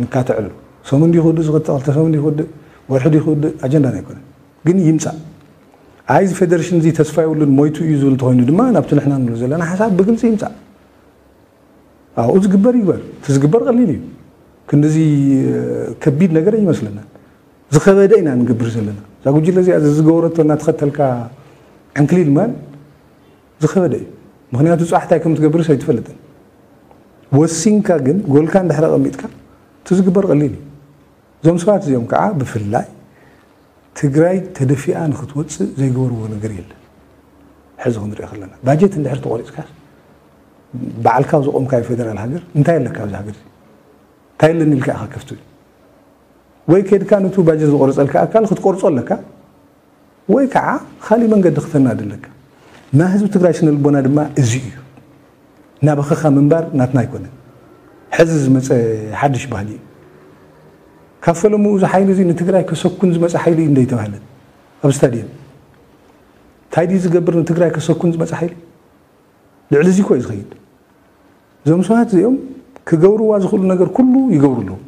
ንካትዐሉ። ሰሙን ድዩ ክውድእ ዝኽእል፣ ክልተ ሰሙን ድዩ ክውድእ፣ ወርሒ ድዩ ክውድእ፣ ኣጀንዳና ኣይኮነን። ግን ይምፃእ። ኣይ እዚ ፌደሬሽን እዚ ተስፋ የብሉን ሞይቱ እዩ ዝብል እንተኮይኑ ድማ ናብቲ ንሕና ንብሎ ዘለና ሓሳብ ብግልፂ ይምፃእ። ኣብኡ ዝግበር ይግበር። እቲ ዝግበር ቀሊል እዩ። ክንድዚ ከቢድ ነገር ኣይመስለናን። ዝኸበደ ኢና ንገብር ዘለና። እዛ ጉጅለ እዚኣ ዝገበረቶ እናተኸተልካ ዕንክሊል ምባል ዝኸበደ እዩ። ምኽንያቱ ፅባሕ እንታይ ከም ትገብርስ ኣይትፈልጥን። ወሲንካ ግን ጎልካ እንድሕር ኣቐሚጥካ እቲ ዝግበር ቀሊል እዩ። እዞም ሰባት እዚኦም ከዓ ብፍላይ ትግራይ ተደፊኣ ንክትወፅእ ዘይገበርዎ ነገር የለን። ሕዚ ክንሪኦ ከለና ባጀት እንድሕር ተቆሪፅካ ባዕልካ ኣብ ዘቆምካዮ ፌደራል ሃገር እንታይ ኣለካ ኣብዚ ሃገር እዚ? እንታይ ኣለኒ ኢልካ ኢኻ ከፍቱ? ወይ ከድካ ነቱ ባጀት ዝቆረፀልካ ኣካል ክትቆርፆ ኣለካ ወይ ከዓ ካሊእ መንገዲ ክተናዲ ኣለካ። ናይ ህዝቢ ትግራይ ስነ ልቦና ድማ እዚ እዩ። እናበኸኻ ምንባር ናትና ኣይኮነን። ሕዚ ዝመፀ ሓድሽ ባህሊ እዩ። ካብ ፈለምኡ እዚ ሓይሊ እዚ ንትግራይ ከሰኩን ዝመፀ ሓይሊ እዩ እንደይተባህለ ኣብ ስታዲየም እንታይ ድዩ ዝገብር ንትግራይ ከሰኩን ዝመፀ ሓይሊ? ልዕሊ እዚ እኮ እዩ ዝኸይድ። እዞም ሰባት እዚኦም ክገብርዋ ዝኽእሉ ነገር ኩሉ ይገብሩ ኣለዉ።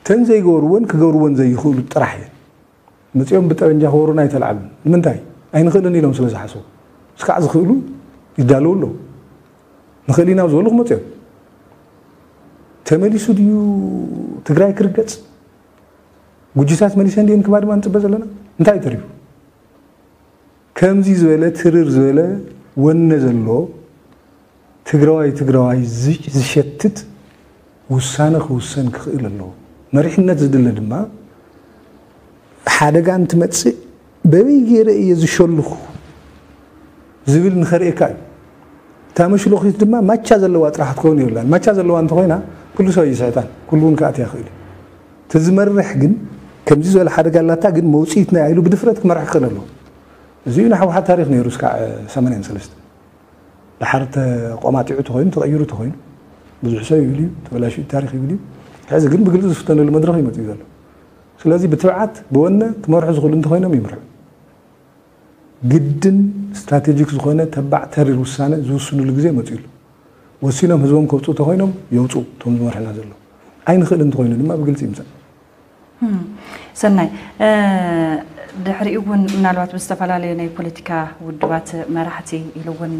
እተን ዘይገብርወን ክገብርወን ዘይኽእሉ ጥራሕ እየን። መፂኦም ብጠበንጃ ክወሩና ኣይተልዓሉን። ንምንታይ? ኣይንኽእልን ኢሎም ስለ ዝሓሰቡ። እስካዕ ዝኽእሉ ይዳለዉ ኣለዉ። ንኽእል ኢና ኣብ ዝበሉ ክመፁ እዮም። ተመሊሱ ድዩ ትግራይ ክርገፅ? ጉጅታት መሊሰን ድየን ክባ ድማ ንፅበ ዘለና? እንታይ እዩ ተሪፉ? ከምዚ ዝበለ ትርር ዝበለ ወነ ዘሎ ትግራዋይ ትግራዋይ ዝ-፣ ዝሸትት ውሳነ ክውሰን ክኽእል ኣለዎ። መሪሕነት ዝድለ ድማ ሓደጋ እንትመፅእ በበይ ገይረ እየ ዝሸልኹ ዝብል ንኸርእየካ እዩ። እታ መሽሎኺት ድማ ማቻ ዘለዋ ጥራሕ ክትከውን የብላን። ማቻ ዘለዋ እንተኾይና ኩሉ ሰብ ይስሕታን፣ ኩሉ እውን ክኣትያ ይኽእል እዩ። እቲ ዝመርሕ ግን ከምዚ ዝበለ ሓደጋ ኣላታ ግን መውፅኢት ናይ ኢሉ ብድፍረት ክመርሕ ክኽእል ኣለዎ። እዚ እዩ ናይ ህወሓት ታሪኽ ነይሩ እስካዕ ሰማንያን ሰለስተን። ድሓር ተቆማጢዑ ተኾይኑ፣ ተቐይሩ ተኾይኑ፣ ብዙሕ ሰብ ይብል እዩ፣ ተበላሽኡ ታሪኽ ይብል እዩ። ሕዚ ግን ብግልፂ ዝፍተነሉ መድረኽ እዩ መፂኡ ዘሎ። ስለዚ ብትብዓት፣ ብወነ ክመርሑ ዝኽእሉ እንተኾይኖም ይምርሑ። ግድን ስትራቴጂክ ዝኾነ ተባዕ ተሪር ውሳነ ዝውስኑሉ ግዜ መፂኡ ኣሎ። ወሲኖም ህዝቦም ከውፅኡ ተኾይኖም የውፅኡ፣ እቶም ዝመርሑና ዘለዉ። ኣይንኽእል እንተኾይኑ ድማ ብግልፂ ይምፃእ። እም፣ ሰናይ። እ፣ ድሕሪኡ እውን ምናልባት ብዝተፈላለዩ ናይ ፖለቲካ ውድባት መራሕቲ ኢሉ እውን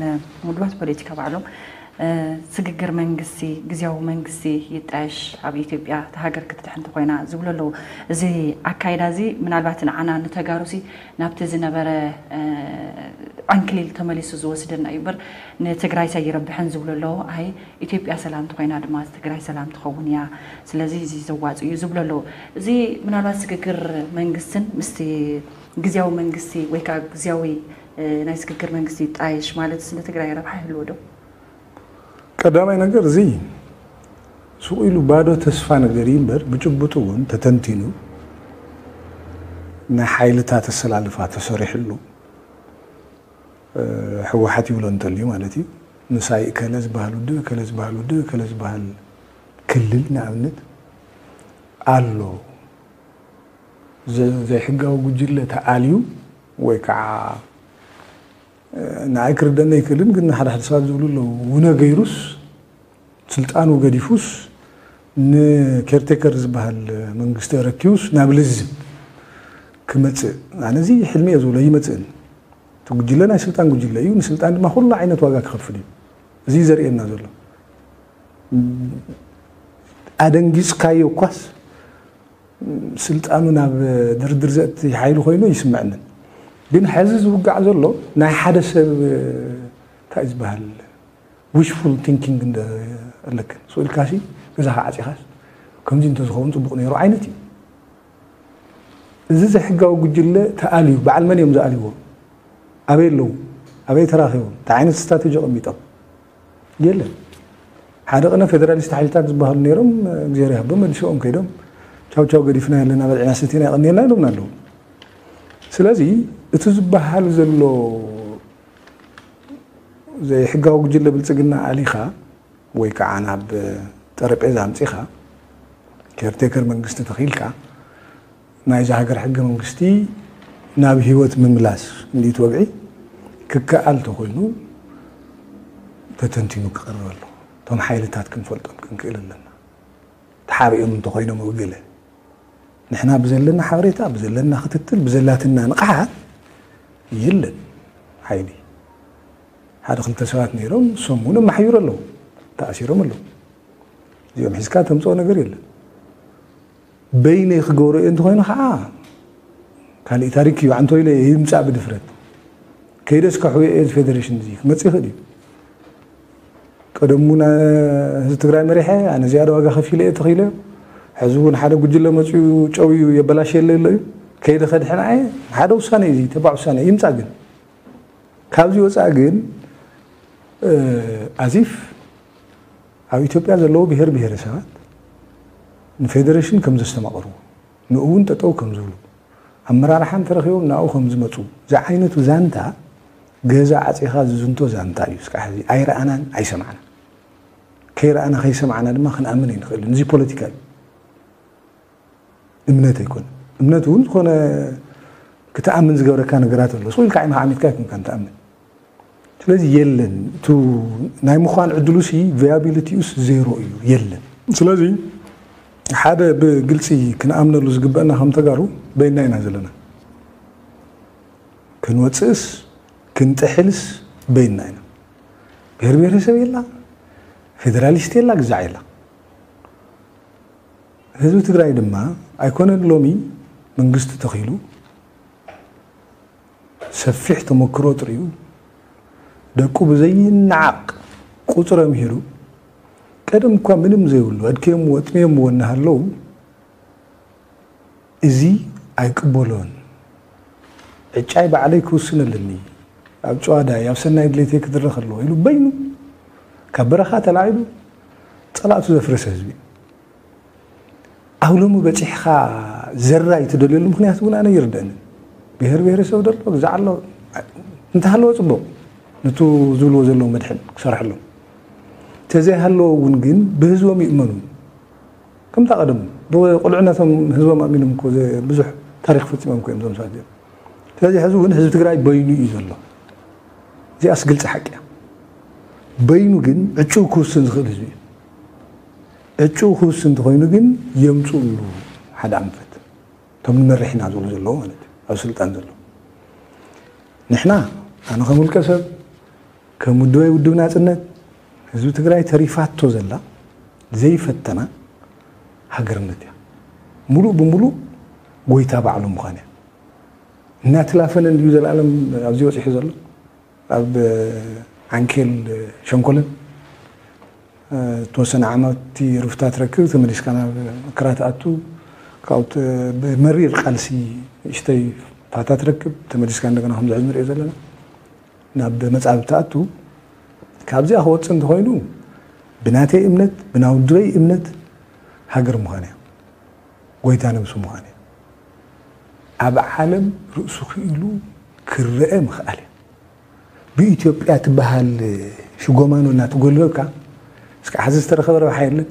ውድባት ፖለቲካ ባዕሎም ስግግር መንግስቲ፣ ግዝያዊ መንግስቲ ይጣየሽ፣ ኣብ ኢትዮጵያ እታ ሃገር ክትድሕን እንተኾይና ዝብሉ ኣለዉ። እዚ ኣካይዳ እዚ ምናልባት ንዓና ንተጋሩሲ ናብቲ ዝነበረ ዕንክሊል ተመሊሱ ዝወስደና እዩ እምበር ንትግራይ ሰይረብሐን ዝብሉ ኣለዉ። ኣይ ኢትዮጵያ ሰላም እንተኾይና ድማ ትግራይ ሰላም ትኸውን እያ። ስለዚ እዚ ዘዋጽእ እዩ ዝብሉ ኣለዉ። እዚ ምናልባት ስግግር መንግስትን ምስቲ ግዝያዊ መንግስቲ ወይ ከዓ ግዝያዊ ናይ ስግግር መንግስቲ ይጣየሽ ማለት ንትግራይ ረብሓ ይህልዎ ዶ? ቀዳማይ ነገር እዚ ስቕ ኢሉ ባዶ ተስፋ ነገር እዩ እምበር ብጭቡጡ እውን ተተንቲኑ ናይ ሓይልታት ኣሰላልፋ ተሰሪሕሉ ህወሓት ይብሎ እንተልዩ ማለት እዩ። ምሳይ እከለ ዝበሃል ውድብ እከለ ዝበሃል ውድብ እከለ ዝበሃል ክልል ንኣብነት ኣሎ። ዘይሕጋዊ ጉጅለ ተኣልዩ ወይ ከዓ ንኣይ ክርደና ይክእልን ግን ሓደ ሓደ ሰባት ዝብሉ ኣለዉ ውነ ገይሩስ ስልጣኑ ገዲፉስ ንኬርቴከር ዝበሃል መንግስቲ ረኪቡስ ናብ ልዝብ ክመፅእ ኣነ እዚ ሕልሚ እየ ዝብሎ ይመፅእን እቲ ጉጅለ ናይ ስልጣን ጉጅለ እዩ ንስልጣን ድማ ኩሉ ዓይነት ዋጋ ክኸፍል እዩ እዚ ዘርእየና ዘሎ ኣደንጊፅካዮ እኳስ ስልጣኑ ናብ ድርድር ዘእቲ ሓይሊ ኮይኑ ይስምዐንን ግን ሕዚ ዝውጋዕ ዘሎ ናይ ሓደ ሰብ እንታይ ዝበሃል wishful thinking ኣለክን ስኢልካሲ ገዛኻ ዓፂኻስ ከምዚ እንተዝኸውን ፅቡቕ ነይሩ ዓይነት እዩ እዚ ዘይሕጋዊ ጉጅለ ተኣልዩ በዓል መን እዮም ዝኣልዎ ኣበይ ኣለዉ ኣበይ ተራኺቦም እንታይ ዓይነት ስትራቴጂ ኣቐሚጦም የለን ሓደ ቅነ ፌደራሊስት ሓይልታት ዝበሃሉ ነይሮም እግዚኣብሔር ይሃቦም መሊስኦም ከይዶም ቻው ቻው ገዲፍና ኣለና በልዕና ሰቲና የቐንየልና ኢሎምና ኣለዉ ስለዚ እቲ ዝበሃል ዘሎ ዘይሕጋዊ ጉጅለ ብልፅግና ኣሊኻ ወይ ከዓ ናብ ጠረጴዛ ኣምፂኻ ኬርቴከር መንግስቲ ተኺልካ ናይዛ ሃገር ሕገ መንግስቲ ናብ ህይወት ምምላስ ክንዲት ወግዒ ክከኣል ተኮይኑ ተተንቲኑ ክቐርብ ኣሎ እቶም ሓይልታት ክንፈልጦም ክንክእል ኣለና ተሓሪኦም እንተኮይኖም ኣብ ገለ ንሕና ብዘለና ሓበሬታ ብዘለና ክትትል ብዘላትና ንቕሓት የለን ሓይሊ ሓደ ክልተ ሰባት ነይሮም እሶም እውን ኣማሓይሩ ኣለዉ ተኣሲሮም ኣለዉ እዚኦም ሒዝካ ተምፅኦ ነገር የለን በይነይ ክገብሮ እየ እንተኮይኑ ከዓ ካሊእ ታሪክ እዩ ዓንቶ ኢለ ይምፃእ ብድፍረት ከይደስ ከሕውየ እየ ፌደሬሽን እዚ ክመፅእ ይኽእል እዩ ቀደሙ ህዝቢ ትግራይ መሪሐ ኣነ ዝያዳ ዋጋ ከፊለ እየ ተኺለ ሕዚ እውን ሓደ ጉጅለ መፅኡ ጨውዩ የበላሸየለ ኣሎ እዩ ከይደ ከድሕን ኣየ ሓደ ውሳነ እዩ ተባዕ ውሳነ ይምፃ ግን ካብዚ ወፃእ ግን ኣዚፍ ኣብ ኢትዮጵያ ዘለዉ ብሄር ብሄረሰባት ንፌደሬሽን ከም ዘስተማቕርዎ ንኡ እውን ጠጠው ከም ዝብሉ ኣመራርሓ እንተረኺቦም ናብኡ ከም ዝመፁ ዝዓይነቱ ዛንታ ገዛ ዓፂኻ ዝዝንቶ ዛንታ እዩ እስካዕ ሕዚ ኣይረኣናን ኣይሰማዕና ከይረኣና ከይሰማዕና ድማ ክንኣምን ኣይንኽእልን እዚ ፖለቲካ እዩ እምነት ኣይኮነ እምነት እውን ዝኾነ ክትኣምን ዝገብረካ ነገራት ኣሎ ስቕ ኢልካ ዓይንካ ዓሚትካ ኣይኮንካ ትኣምን ስለዚ የለን እቲ ናይ ምዃን ዕድሉ ሲ ቪያቢሊቲኡስ ዜሮ እዩ የለን ስለዚ ሓደ ብግልፂ ክንኣምነሉ ዝግበአና ከም ተጋሩ በይና ኢና ዘለና ክንወፅእስ ክንጥሕልስ በይና ኢና ብሄር ብሄረሰብ የላ ፌደራሊስት የላ ግዛዕ የላ ህዝቢ ትግራይ ድማ ኣይኮነን ሎሚ መንግስቲ ተኺሉ ሰፊሕ ተመክሮ ጥሪኡ ደቁ ብዘይነዓቕ ቁፅሪ ኣምሂሩ ቀደም እኳ ምንም ዘይብሉ ኣድክዮምዎ ኣጥምዮምዎ እናሃለዉ እዚ ኣይቅበሎን ዕጫይ ባዕለይ ክውስን ኣለኒ ኣብ ጨዋዳይ ኣብ ሰናይ ድሌተይ ክድረኽ ኣለዎ ኢሉ በይኑ ካብ በረኻ ተላዒሉ ፀላእቱ ዘፍረሰ ህዝቢ ኣብ ሎሚ በፂሕኻ ዘራይ ትደልየሉ ምክንያት እውን ኣነ ይርደእኒ ብሄር ብሄረሰብ ደሎ ግዛዕ ኣሎ እንተሃለወ ፅቡቕ ንቱ ዝብልዎ ዘለዉ መድሕን ክሰርሐሎም ተዘይሃለዎ እውን ግን ብህዝቦም ይእመኑ ከምታ ቀደም ብቁልዕነቶም ህዝቦም ኣሚኖም እኮ ብዙሕ ታሪክ ፈፂሞም እኮ እዮም ዞም ሰባት እዚኦም ስለዚ ሕዚ እውን ህዝቢ ትግራይ በይኑ እዩ ዘሎ እዚኣስ ግልፂ ሓቂ እያ በይኑ ግን ዕጭኡ ክውስን ዝኽእል ህዝቢ እዩ ዕጭኡ ክውስን እንተኮይኑ ግን የምፅእሉ ሓደ ኣንፈት እቶም ንመርሕ ኢና ዝብሉ ዘለዉ ማለት እዩ ኣብ ስልጣን ዘለዉ ንሕና ኣነ ከም ውልቀ ሰብ ከም ውድበይ ውድብ ናፅነት ህዝቢ ትግራይ ተሪፋቶ ዘላ ዘይፈተና ሃገርነት እያ። ሙሉእ ብሙሉእ ጎይታ ባዕሉ ምዃን እያ። እናተላፈነ እንድዩ ዘላለም ኣብዚ ወፂሑ ዘሎ። ኣብ ዓንኬል ሸንኮለን ዝተወሰነ ዓመት ርፍታ ትረክብ፣ ተመሊስካ ናብ መከራ ትኣቱ። ካብኡ ብመሪር ቃልሲ ንእሽተይ ፋታ ትረክብ፣ ተመሊስካ እንደገና ከምዚ ሕዚ ንሪኦ ዘለና ናብ መጻብብ ትኣቱ። ካብዚኣ ክወጽእ እንተኾይኑ ብናተይ እምነት፣ ብናውድበይ እምነት ሃገር ምዃን እያ፣ ጎይታ ነብሱ ምዃን እያ። ኣብ ዓለም ርእሱ ክኢሉ ክረአ ምኽኣል እያ። ብኢትዮጵያ ትበሃል ሽጎማኖ እናተጎልበብካ እስካዕ ሕዚ ዝተረኸበ ረብሓ የለን።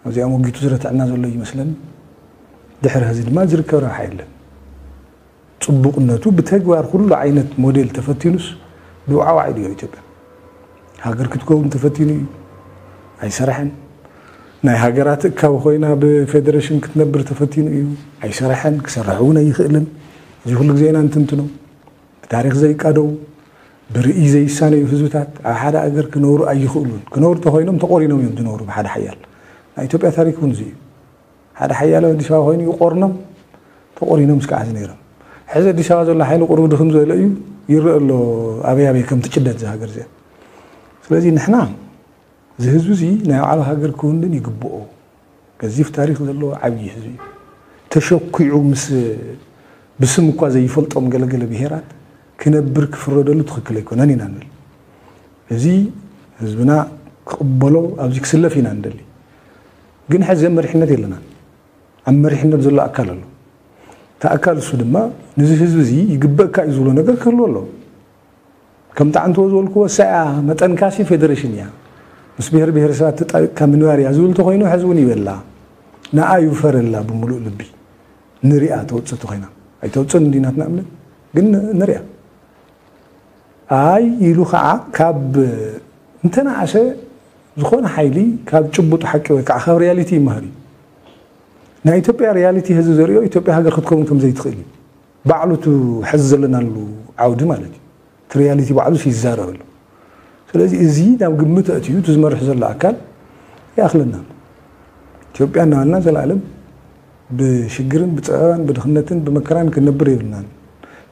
ኣብዚኣ ሞጊቱ ዝረትዐና ዘሎ ይመስለኒ። ድሕሪ ሕዚ ድማ ዝርከብ ረብሓ የለን። ጽቡቕነቱ ብተግባር ኩሉ ዓይነት ሞዴል ተፈቲኑስ ብውዓዋዕ ኢሉ ኢትዮጵያ ሃገር ክትከውን ተፈቲኑ እዩ፣ ኣይሰራሐን። ናይ ሃገራት እካብ ኮይና ብፌደሬሽን ክትነብር ተፈቲኑ እዩ፣ ኣይሰራሐን። ክሰርሕ እውን ኣይኽእልን። እዚ ኩሉ ግዜ ኢና እንትንትኖ። ብታሪኽ ዘይቃደው፣ ብርእይ ዘይሳነዩ ህዝብታት ኣብ ሓደ ኣገር ክነብሩ ኣይኽእሉን። ክነብሩ ተኾይኖም ተቆሪኖም እዮም ዝነብሩ ብሓደ ሓያል። ናይ ኢትዮጵያ ታሪክ እውን እዚ እዩ። ሓደ ሓያል ኣብ ኣዲስ ኣበባ ኮይኑ ይቆርኖም፣ ተቆሪኖም እስካዕ ሕዚ ነይሮም። ሕዚ ኣዲስ ኣበባ ዘሎ ሓይሊ ቁሩብ ድኽም ዝበለ እዩ፣ ይረአ ኣሎ ኣበይ ኣበይ ከም ትጭደድ እዛ ሃገር እዚኣ። ስለዚ ንሕና እዚ ህዝቢ እዚ ናይ ባዕሉ ሃገር ክውንን ይግብኦ። ገዚፍ ታሪኽ ዘለዎ ዓብዪ ህዝቢ እዩ። ተሸኪዑ ምስ ብስም እኳ ዘይፈልጦም ገለገለ ብሄራት ክነብር ክፍረደሉ ትኽክል ኣይኮነን ኢና ንብል። እዚ ህዝብና ክቕበሎ ኣብዚ ክስለፍ ኢና ንደሊ። ግን ሕዚ መሪሕነት የለናን። ኣብ መሪሕነት ዘሎ ኣካል ኣሎ። እቲ ኣካል እሱ ድማ ነዚ ህዝቢ እዚ ይግበእካ እዩ ዝብሎ ነገር ክህልዎ ኣሎ። ከም ጣዕንትዎ ዝበልክዎ እሳያ መጠንካሲ ፌደሬሽን እያ። ምስ ብሔር ብሔረሰባት ተጣቢቕካ ምንባር እያ ዝብል ተኾይኑ ሕዚ እውን ይበላ። ንኣ ይውፈረላ ብምሉእ ልቢ ንሪኣ ተውፅእ ተኾይና። ኣይተውፅእን እንዲ ናትና እምነት ግን ንሪኣ። ኣይ ኢሉ ከዓ ካብ እንተነኣሰ ዝኾነ ሓይሊ ካብ ጭቡጥ ሓቂ ወይ ከዓ ካብ ሪያሊቲ ይመሃር እዩ። ናይ ኢትዮጵያ ሪያሊቲ ህዝቢ ዘሪኦ ኢትዮጵያ ሃገር ክትከውን ከም ዘይትኽእል እዩ። ባዕሉ እቲ ሕዚ ዘለናሉ ዓውዲ ማለት እዩ። እቲ ሪያሊቲ ባዕሉስ ይዛረብ ኣሎ። ስለዚ እዚ ናብ ግምት ኣእትዩ እቲ ዝመርሕ ዘሎ ኣካል ይኣኽለና። ኢትዮጵያ እናበልና ዘላለም ብሽግርን ብፀበባን ብድኽነትን ብመከራን ክንነብር የብልናን።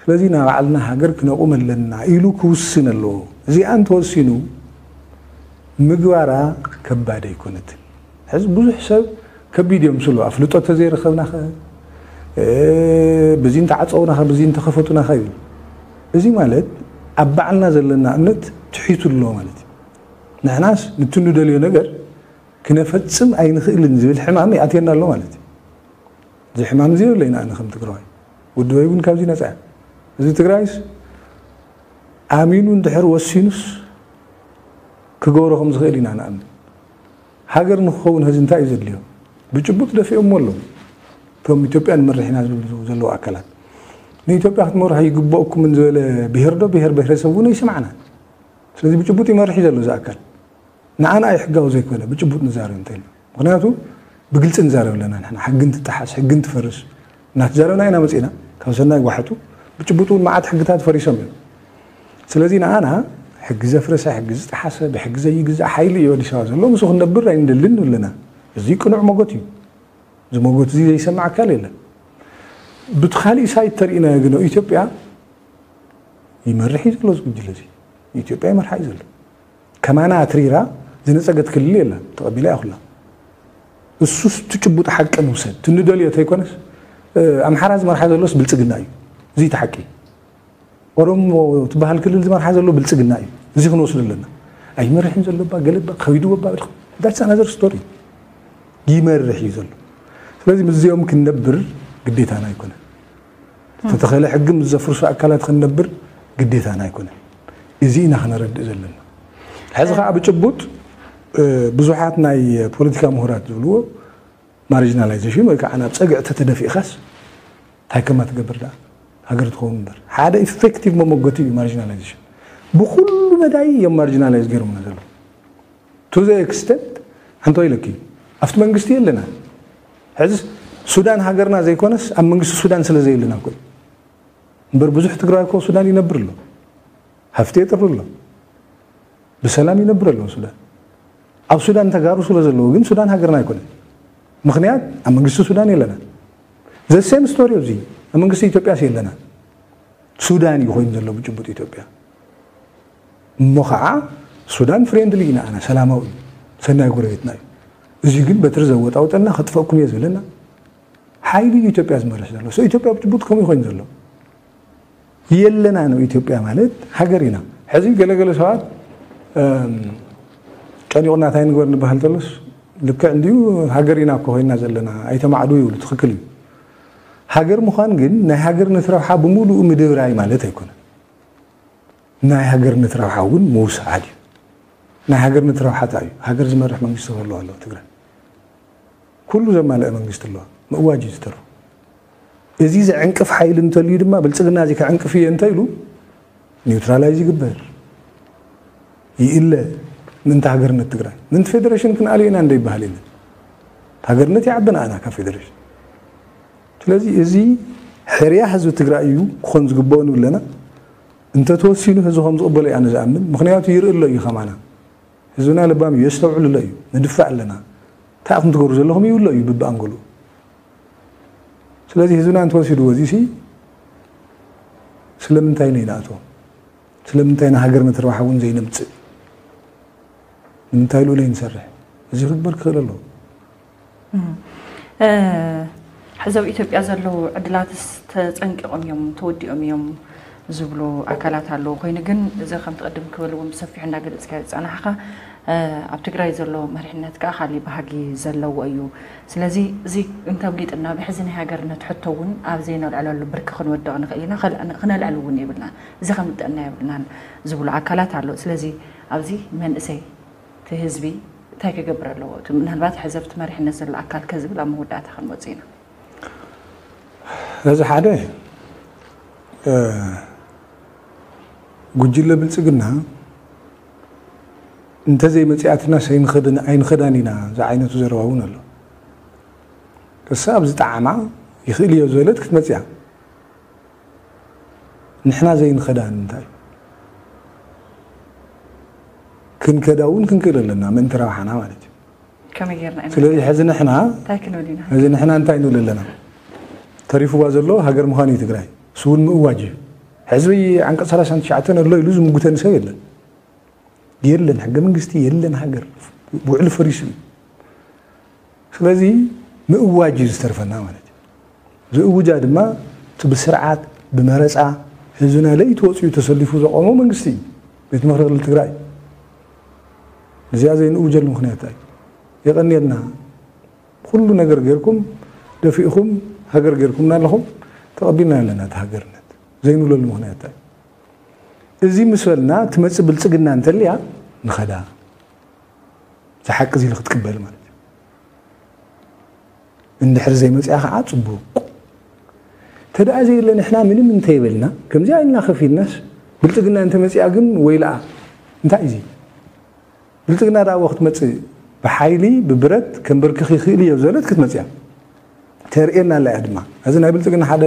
ስለዚ ናይ ባዕልና ሃገር ክነቑም ኣለና ኢሉ ክውስን ኣለዎ። እዚኣ እንተወሲኑ ምግባራ ከባድ ኣይኮነትን። ሕዚ ብዙሕ ሰብ ከቢድ እዮም ስሉ ኣፍልጦ ተዘይረኸብናኸ፣ ብዚ እንተዓፀውናኸ፣ ብዚ እንተኸፈቱናኸ ይብል። እዚ ማለት ኣብ ባዕልና ዘለና እምነት ትሒቱ ኣሎ ማለት እዩ። ንሕናስ ንትንደልዮ ነገር ክነፈፅም ኣይንኽእልን ዝብል ሕማም ይኣትየና ኣሎ ማለት እዩ። እዚ ሕማም እዚ የብለይን ኣነ ከም ትግራዋይ። ውድበይ እውን ካብዚ ነፃ እያ። እዚ ትግራይስ ኣሚኑ እንድሕር ወሲኑስ ክገብሮ ከም ዝኽእል ኢና ንኣምን። ሃገር ንክኸውን ሕዚ እንታይ እዩ ዘድልዮ? ብጭቡጥ ደፊኦሞ ኣለዉ። እቶም ኢትዮጵያ ንመርሕ ኢና ዝብሉ ዘለዉ ኣካላት ንኢትዮጵያ ክትመርሑ ይግበእኩምን ዝበለ ብሄር ዶ ብሄር ብሄረሰብ እውን ኣይሰማዕናን። ስለዚ ብጭቡጥ ይመርሕ እዩ ዘሎ እዚ ኣካል። ንዓና እዩ ሕጋዊ ዘይኮነ ብጭቡጥ ንዛረብ እንተልና። ምክንያቱ ብግልፂ ንዛረብ ኣለና ንሕና። ሕጊ እንትጠሓስ፣ ሕጊ እንትፈርስ እናተዛረብና ኢና መፂና። ካብ ሰናይ ጓሕቱ ብጭቡጡ እውን መዓት ሕግታት ፈሪሶም እዮም። ስለዚ ንዓና ሕጊ ዘፍረሰ፣ ሕጊ ዝጠሓሰ፣ ብሕጊ ዘይግዛእ ሓይሊ እዩ ኣዲስ ኣበባ ዘሎ። ምስኡ ክንነብር ኣይንደልን ኣለና። እዚ ቅኑዕ መጎት እዩ። እዚ መጎት እዚ ዘይሰማዕ ኣካል የለን። ብቲ ካሊእ ሳይት ተርእናዮ ግን ኢትዮጵያ ይመርሕ እዩ ዘሎ እዚ ጉጅለ እዚ። ኢትዮጵያ ይመርሓ እዩ ዘሎ። ከማና ኣትሪራ ዝነፀገት ክልል የላን። ተቐቢላ እያ ኩላ። እሱስ እቲ ጭቡጥ ሓቂ ንውሰድ። እቲ ንደልዮ ተይኮነስ፣ እ፣ ኣምሓራ ዝመርሓ ዘሎስ ብልፅግና እዩ። እዚ እቲ ሓቂ። ኦሮሞ ትበሃል ክልል ዝመርሓ ዘሎ ብልፅግና እዩ። እዚ ክንወስድ ኣለና። ኣይመርሕን ዘሎ እባ፣ ገለ እባ፣ ከቢድዎ እባ፣ that's another story። ይመርሕ እዩ ዘሎ። ስለዚ ምስዚኦም ክንነብር ግዴታና ኣይኮነን። ዝተተኸለ ሕጊ ምስ ዘፍርሱ ኣካላት ክንነብር ግዴታና ኣይኮነን። እዚ ኢና ክነረድእ ዘለና። ሕዚ ከዓ ብጭቡጥ፣ እ፣ ብዙሓት ናይ ፖለቲካ ምሁራት ዝብልዎ ማርጂናላይዜሽን ወይ ከዓ ናብ ፀግዒ ተተደፊእኻስ እንታይ ከማ ትገብር ደኣ ሃገር ትኸውን እምበር። ሓደ ኢፌክቲቭ መመጎቲ እዩ ማርጂናላይዜሽን። ብኩሉ መዳይ እዮም ማርጂናላይዝ ገይሮምና ዘለዉ። To the extent፣ ሓንቲ ኢለኪ፣ ኣብቲ መንግስቲ የለና። ሕዚ ሱዳን ሃገርና ዘይኮነስ ኣብ መንግስቲ ሱዳን ስለ ዘየለና እኮ እዩ። እምበር ብዙሕ ትግራይ እኮ ሱዳን ይነብር ኣሎ። ሃፍቲ የጥሪ ኣሎ። ብሰላም ይነብር ኣሎ ሱዳን። ኣብ ሱዳን ተጋሩ ስለ ዘለዉ ግን ሱዳን ሃገርና ኣይኮነን። ምኽንያት ኣብ መንግስቲ ሱዳን የለና። The same story ኣብዚ ኣብ መንግስቲ ኢትዮጵያስ የለና። ሱዳን እዩ ኮይኑ ዘሎ ብጭቡጥ ኢትዮጵያ። እሞ ከዓ ሱዳን ፍሬንድሊ ኢና ኣና ሰላማዊ እዩ። ሰናይ ጎረቤትና እዩ። እዚ ግን በትሪ ዘወጣውጠና ከጥፈእኩም እየ ዝብለና ሓይሊ እዩ ኢትዮጵያ ዝመርሕ ዘሎ። So ኢትዮጵያ ብጭቡጥ ከምኡ ኮይኑ ዘሎ። የለና ነው ኢትዮጵያ ማለት ሃገር ኢና። ሕዚ ገለገለ ሰባት ጨኒቑና እንታይ ንግበር ንበሃል ተሎስ ልክዕ እንዲዩ ሃገር ኢና እኮ ኮይና ዘለና ኣይተማዕዱ ይብሉ። ትኽክል እዩ። ሃገር ምዃን ግን ናይ ሃገርነት ረብሓ ብምሉኡ ምድብራይ ማለት ኣይኮነን። ናይ ሃገርነት ረብሓ እውን ምውሳድ እዩ። ናይ ሃገርነት ረብሓ እንታይ እዩ? ሃገር ዝመርሕ መንግስቲ ክህልዋ ኣለዎ ትግራይ። ኩሉ ዘማልአ መንግስቲ ኣለዋ። ምእዋጅ እዩ ዝተርፎ። እዚ ዘዕንቅፍ ሓይሊ እንተልዩ ድማ ብልፅግና እዚ ከዕንቅፍ እየ እንተ ኢሉ ኒውትራላይዝ ይግበር፣ ይእለ። ምእንቲ ሃገርነት ትግራይ ምእንቲ ፌደሬሽን ክንኣልዮ ኢና እንደ ይበሃል የለን። ሃገርነት ይዓቢ ንኣና ካብ ፌደሬሽን። ስለዚ እዚ ሕርያ ህዝቢ ትግራይ እዩ ክኾን ዝግብኦ ንብለና። እንተተወሲኑ ህዝቢ ከም ዝቕበሎ ኢና ንዝኣምን። ምኽንያቱ ይርኢ ኣሎ እዩ ከማና። ህዝብና ለባም እዩ፣ የስተውዕል ኣሎ እዩ። ንድፋእ ኣለና። እንታይ ኢኹም ትገብሩ ዘለኹም ይብሎ እዩ ብብኣንገሉ። ስለዚ ህዝብና እንተወሲድዎ እዚሲ ስለምንታይ ነይንኣትዎ? ስለምንታይ ንሃገር መትርባሕ እውን ዘይነምፅእ? ንምንታይ ልኡለይ ንሰርሕ? እዚ ክግበር ክኽእል ኣለዎ። ሕዚ ኣብ ኢትዮጵያ ዘለዉ ዕድላትስ ተፀንቂቖም እዮም፣ ተወዲኦም እዮም ዝብሉ ኣካላት ኣለዉ። ኮይኑ ግን እዚ ከምቲ ቅድም ክበልዎም ብሰፊሑ እንዳገለፅካ ዝፀናሕኻ ኣብ ትግራይ ዘሎ መሪሕነት ከዓ ካሊእ ባህጊ ዘለዎ እዩ። ስለዚ እዚ እንተብሊጥና ብሕዚ ናይ ሃገርነት ሕቶ እውን ኣብ ዘይነልዕለሉ ብርኪ ክንወድቕ ንኽእል ኢና፣ ክነልዕል እውን የብልናን፣ እዚ ከምልጠና የብልናን ዝብሉ ኣካላት ኣለዉ። ስለዚ ኣብዚ መንእሰይ እቲ ህዝቢ እንታይ ክገብር ኣለዎ? እቲ ምናልባት ሕዚ ኣብቲ መሪሕነት ዘሎ ኣካል ከ ዝብል ኣብ መወዳእታ ክንመፅእ ኢና። እዚ ሓደ ጉጅለ ብልፅግና እንተዘይመፅኣትናስ ኣይንኸዳን ኢና ዝዓይነቱ ዘረባ እውን ኣሎ። እሳ ኣብ ዝጠዓማ ይኽእል እዮ ዝበለት ክትመፅያ ንሕና ዘይንኸዳን እንታይ ክንከዳ እውን ክንክእል ኣለና ምእንቲ ረብሓና ማለት እዩ። ከመይ ጌርና ኢና ስለዚ ሕዚ ንሕና እንታይ ክንብል ኢና? እዚ ንሕና እንታይ ንብል ኣለና? ተሪፍዋ ዘሎ ሃገር ምዃን እዩ ትግራይ። እሱ እውን ምእዋጅ እዩ። ሕዝቢ ዓንቀፅ ሰላሳን ትሽዓተን ኣሎ ኢሉ ዝምጉተኒ ሰብ የለን። የለን ሕገ መንግስቲ የለን ሃገር ውዕሊ ፈሪሱ እዩ። ስለዚ ምእዋጅ እዩ ዝተርፈና ማለት እዩ። ዝእውጃ ድማ እቲ ብስርዓት ብመረፃ ህዝብና ለይቲ ወፂኡ ተሰሊፉ ዘቆሞ መንግስቲ እዩ። ቤት ምኽሪ ክልል ትግራይ እዚኣ ዘይንእውጀሉ ምክንያት እንታይ? የቐንየልና ኩሉ ነገር ጌርኩም ደፊእኹም ሃገር ጌርኩምና ኣለኹም ተቐቢልና ኣለና እቲ ሃገርነት ዘይንብለሉ ምክንያት እንታይ? እዚ ምስ በልና ትመፅእ ብልፅግና እንተልያ ንኸዳ ዝሓቂ እዚ ክትቅበል ማለት እዩ። እንድሕር ዘይመፅኣ ከዓ ፅቡቅ ተደኣ ዘየለ ንሕና ምንም እንተይበልና ከምዚኣ ኢልና ከፊልናስ ብልፅግና እንተመፅኣ ግን ወይልኣ እንታይ እዚ ብልፅግና ደኣ ክትመፅእ ብሓይሊ ብብረት ከንበርክኽ ይኽእል እዮ ዘለት ክትመፅያ ተርእየና ኣላ እያ ድማ እዚ ናይ ብልፅግና ሓደ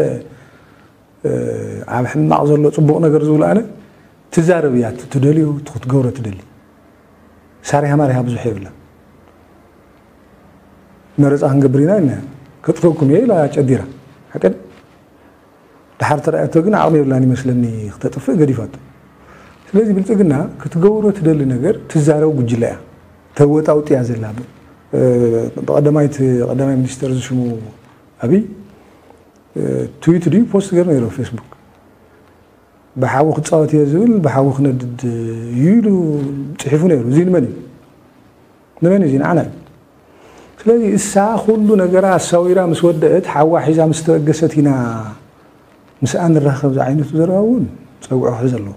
ኣብ ሕማቕ ዘሎ ፅቡቕ ነገር ዝብሉ ኣነ ትዛረብ እያ ትደልዩ ክትገብሮ ትደሊ ሳሪሃ ማሪሃ ብዙሕ የብላ መረፃ ክንገብር ኢና ኢልና ከጥፈኩም እየ ኢላ ጨዲራ ሓቀን ድሓር ተረኣየቶ ግን ዓቕሚ የብላን ይመስለኒ ክተጥፍእ ገዲፋቶ ስለዚ ብልፅግና ክትገብሮ ትደሊ ነገር ትዛረብ ጉጅለ እያ ተወጣውጥያ ዘላ ብቐደማይት ቀዳማይ ሚኒስተር ዝሽሙ ኣብይ ትዊት ድዩ ፖስት ገይሩ ነይሩ ፌስቡክ ብሓዊ ክፃወት እየ ዝብል ብሓዊ ክነድድ እዩ ኢሉ ፅሒፉ ነይሩ እዚ ንመን እዩ ንመን እዩ ንዓና እዩ ስለዚ እሳ ኩሉ ነገራ ኣሳዊራ ምስ ወደአት ሓዋ ሒዛ ምስ ተበገሰት ኢና ምስኣ ንራኸብ ዝዓይነቱ ዘረባ እውን ፀግዖ ክሕዝ ኣለዎ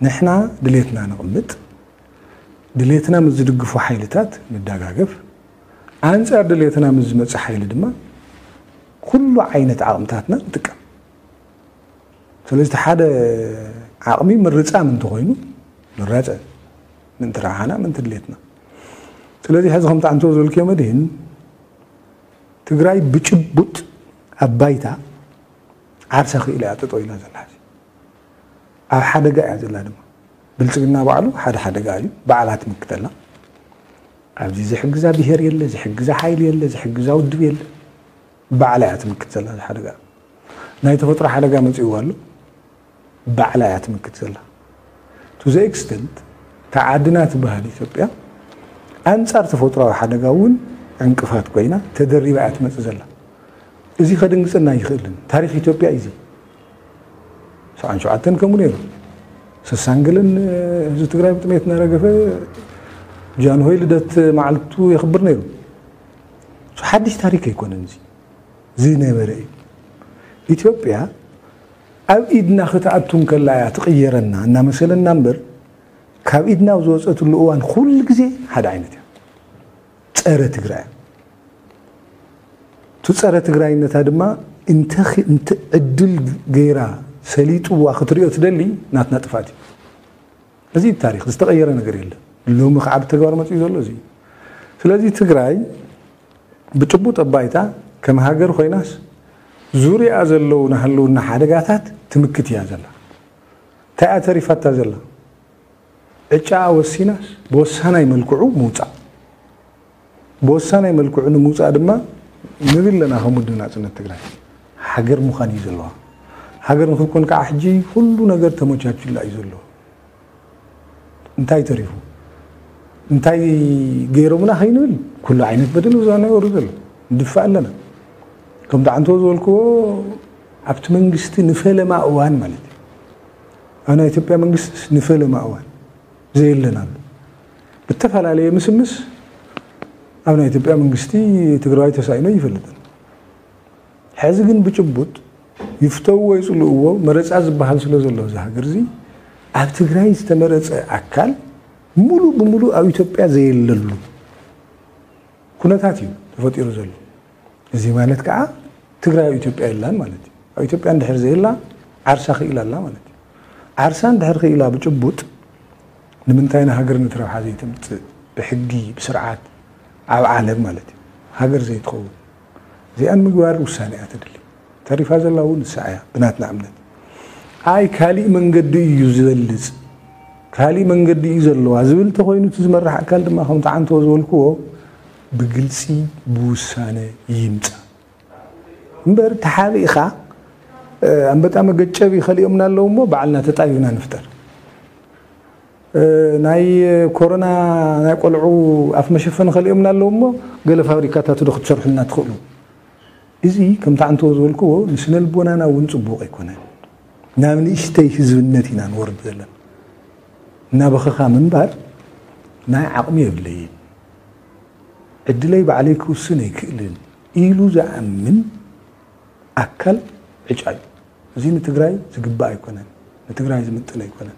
ንሕና ድሌትና ነቕምጥ ድሌትና ምስ ዝድግፉ ሓይልታት ንዳጋገፍ ኣንፃር ድሌትና ምስ ዝመፅእ ሓይሊ ድማ ኩሉ ዓይነት ዓቕምታትና ንጥቀም ስለዚ ሓደ ዓቕሚ ምርፃም እንተኮይኑ ንራፀ ምንቲ ረብሓና ምንቲ ድሌትና ስለዚ ሕዚ ከምቲ ኣንቶ ዝበልክዮ መድህን ትግራይ ብጭቡጥ ኣብ ባይታ ዓርሳ ክኢላ እያ ጠጠው ኢላ ዘላ ሕዚ ኣብ ሓደጋ እያ ዘላ ድማ ብልፅግና ባዕሉ ሓደ ሓደጋ እዩ ባዕላ ትምክተላ ኣብዚ ዝሕግዛ ብሄር የለ፣ ዝሕግዛ ሓይሊ የለ፣ ዝሕግዛ ውድብ የለ። ባዕላ እያ ትምክት ዘላ እዚ ሓደጋ። ናይ ተፈጥሮ ሓደጋ መፂእዋ ኣሎ፣ ባዕላ እያ ትምክት ዘላ። To the extent እታ ዓድና ትበሃል ኢትዮጵያ ኣንጻር ተፈጥሮዊ ሓደጋ እውን ዕንቅፋት ኮይና ተደሪባ እያ ትመፅእ ዘላ። እዚ ከድንግፀና ኣይኽእልን። ታሪክ ኢትዮጵያ እዩ እዚ። ሰብዓን ሸውዓተን ከምኡ ነይሩ። ስሳን ገለን ህዝቢ ትግራይ ብጥሜት እናረገፈ ጃንሆይ ልደት መዓልቱ የኽብር ነይሩ። ሓድሽ ታሪክ ኣይኮነን እዚ። ዝነበረ እዩ። ኢትዮጵያ ኣብ ኢድና ክትኣቱ እንከላ እያ ትቕየረና እናመሰለና እምበር፣ ካብ ኢድና ኣብ ዝወፀትሉ እዋን ኩሉ ግዜ ሓደ ዓይነት እያ። ፀረ ትግራይ እያ። እቲ ፀረ ትግራይነታ ድማ እንተ ኺ-፣ እንተ ዕድል ገይራ ሰሊጥዋ ክትሪኦ ትደሊ ናትና ጥፍኣት እዩ። እዚ እዩ ታሪክ፣ ዝተቐየረ ነገር የለን። ሎሚ ከዓ ብተግባር መፂኡ ዘሎ እዚ እዩ። ስለዚ ትግራይ ብጭቡጥ ኣባይታ ከም ሃገር ኮይናስ ዙሪያ ዘለዉ ናይ ህልውና ሓደጋታት ትምክት እያ ዘላ። እንታይ እያ ተሪፋታ ዘላ? ዕጫኣ ወሲናስ ብወሳናይ መልክዑ ምውፃእ። ብወሳናይ መልክዑ ንምውፃእ ድማ ንብል ኣለና ከም ውድብ ናፅነት ትግራይ። ሃገር ምዃን እዩ ዘለዋ። ሃገር ንክትኮን ከዓ ሕጂ ኩሉ ነገር ተመቻችላ እዩ ዘሎ። እንታይ ተሪፉ? እንታይ ገይሮምና ከይንብል ኩሉ ዓይነት በደል ብዛና ይወርድ ዘሎ። ንድፋእ ኣለና። ከምቲ ዓንቶ ዝበልክዎ ኣብቲ መንግስቲ ንፈለማ እዋን ማለት እዩ። ኣብ ናይ ኢትዮጵያ መንግስቲ ንፈለማ እዋን ዘየለና ኣሎ። ብተፈላለየ ምስምስ ኣብ ናይ ኢትዮጵያ መንግስቲ ትግራዋይ ተሳኢኖ ይፈልጥን። ሕዚ ግን ብጭቡጥ ይፍተውዎ ይፅልእዎ መረፃ ዝበሃል ስለ ዘሎ እዚ ሃገር እዚ ኣብ ትግራይ ዝተመረፀ ኣካል ሙሉ ብሙሉ ኣብ ኢትዮጵያ ዘየለሉ ኩነታት እዩ ተፈጢሩ ዘሎ። እዚ ማለት ከዓ ትግራይ ኣብ ኢትዮጵያ የላን ማለት እዩ። ኣብ ኢትዮጵያ እንድሕር ዘየላ ዓርሳ ክኢላ ኣላ ማለት እዩ። ዓርሳ እንድሕር ክኢላ ብጭቡጥ ንምንታይ ንሃገር ነቲ ረብሓ ዘይተምፅእ ብሕጊ ብስርዓት ኣብ ዓለም ማለት እዩ ሃገር ዘይትኸውን እዚኣን ምግባር ውሳኔ እያ ትድሊ። ተሪፋ ዘላ እውን ንሳ እያ ብናትና እምነት። ኣይ ካሊእ መንገዲ እዩ ዝበልፅ ካሊእ መንገዲ እዩ ዘለዋ ዝብል ተኮይኑ እቲ ዝመራሕ ኣካል ድማ ከምቲ ዓንቶ ዝበልክዎ ብግልፂ ብውሳነ ይምፃ እምበር ተሓቢእኻ ኣንበጣ መገጨቢ ከሊኦምና ኣለዉ እሞ ባዕልና ተጣቢብና ንፍጠር። ናይ ኮሮና ናይ ቆልዑ ኣፍ መሸፈኒ ከሊኦምና ኣለዉ እሞ ገለ ፋብሪካታት ዶ ክትሰርሑልና ትኽእሉ? እዚ ከምቲ ዓንቶ ዝበልክዎ ንስነ ልቦናና እውን ፅቡቕ ኣይኮነን። ናብ ንእሽተይ ህዝብነት ኢና ንወርድ ዘለና። እናበኸኻ ምንባር ናይ ዓቕሚ የብለይን፣ ዕድለይ ባዕለይ ክውስን ኣይክእልን ኢሉ ዝኣምን ኣካል ዕጫ እዩ። እዚ ንትግራይ ዝግባእ ኣይኮነን፣ ንትግራይ ዝምጥን ኣይኮነን።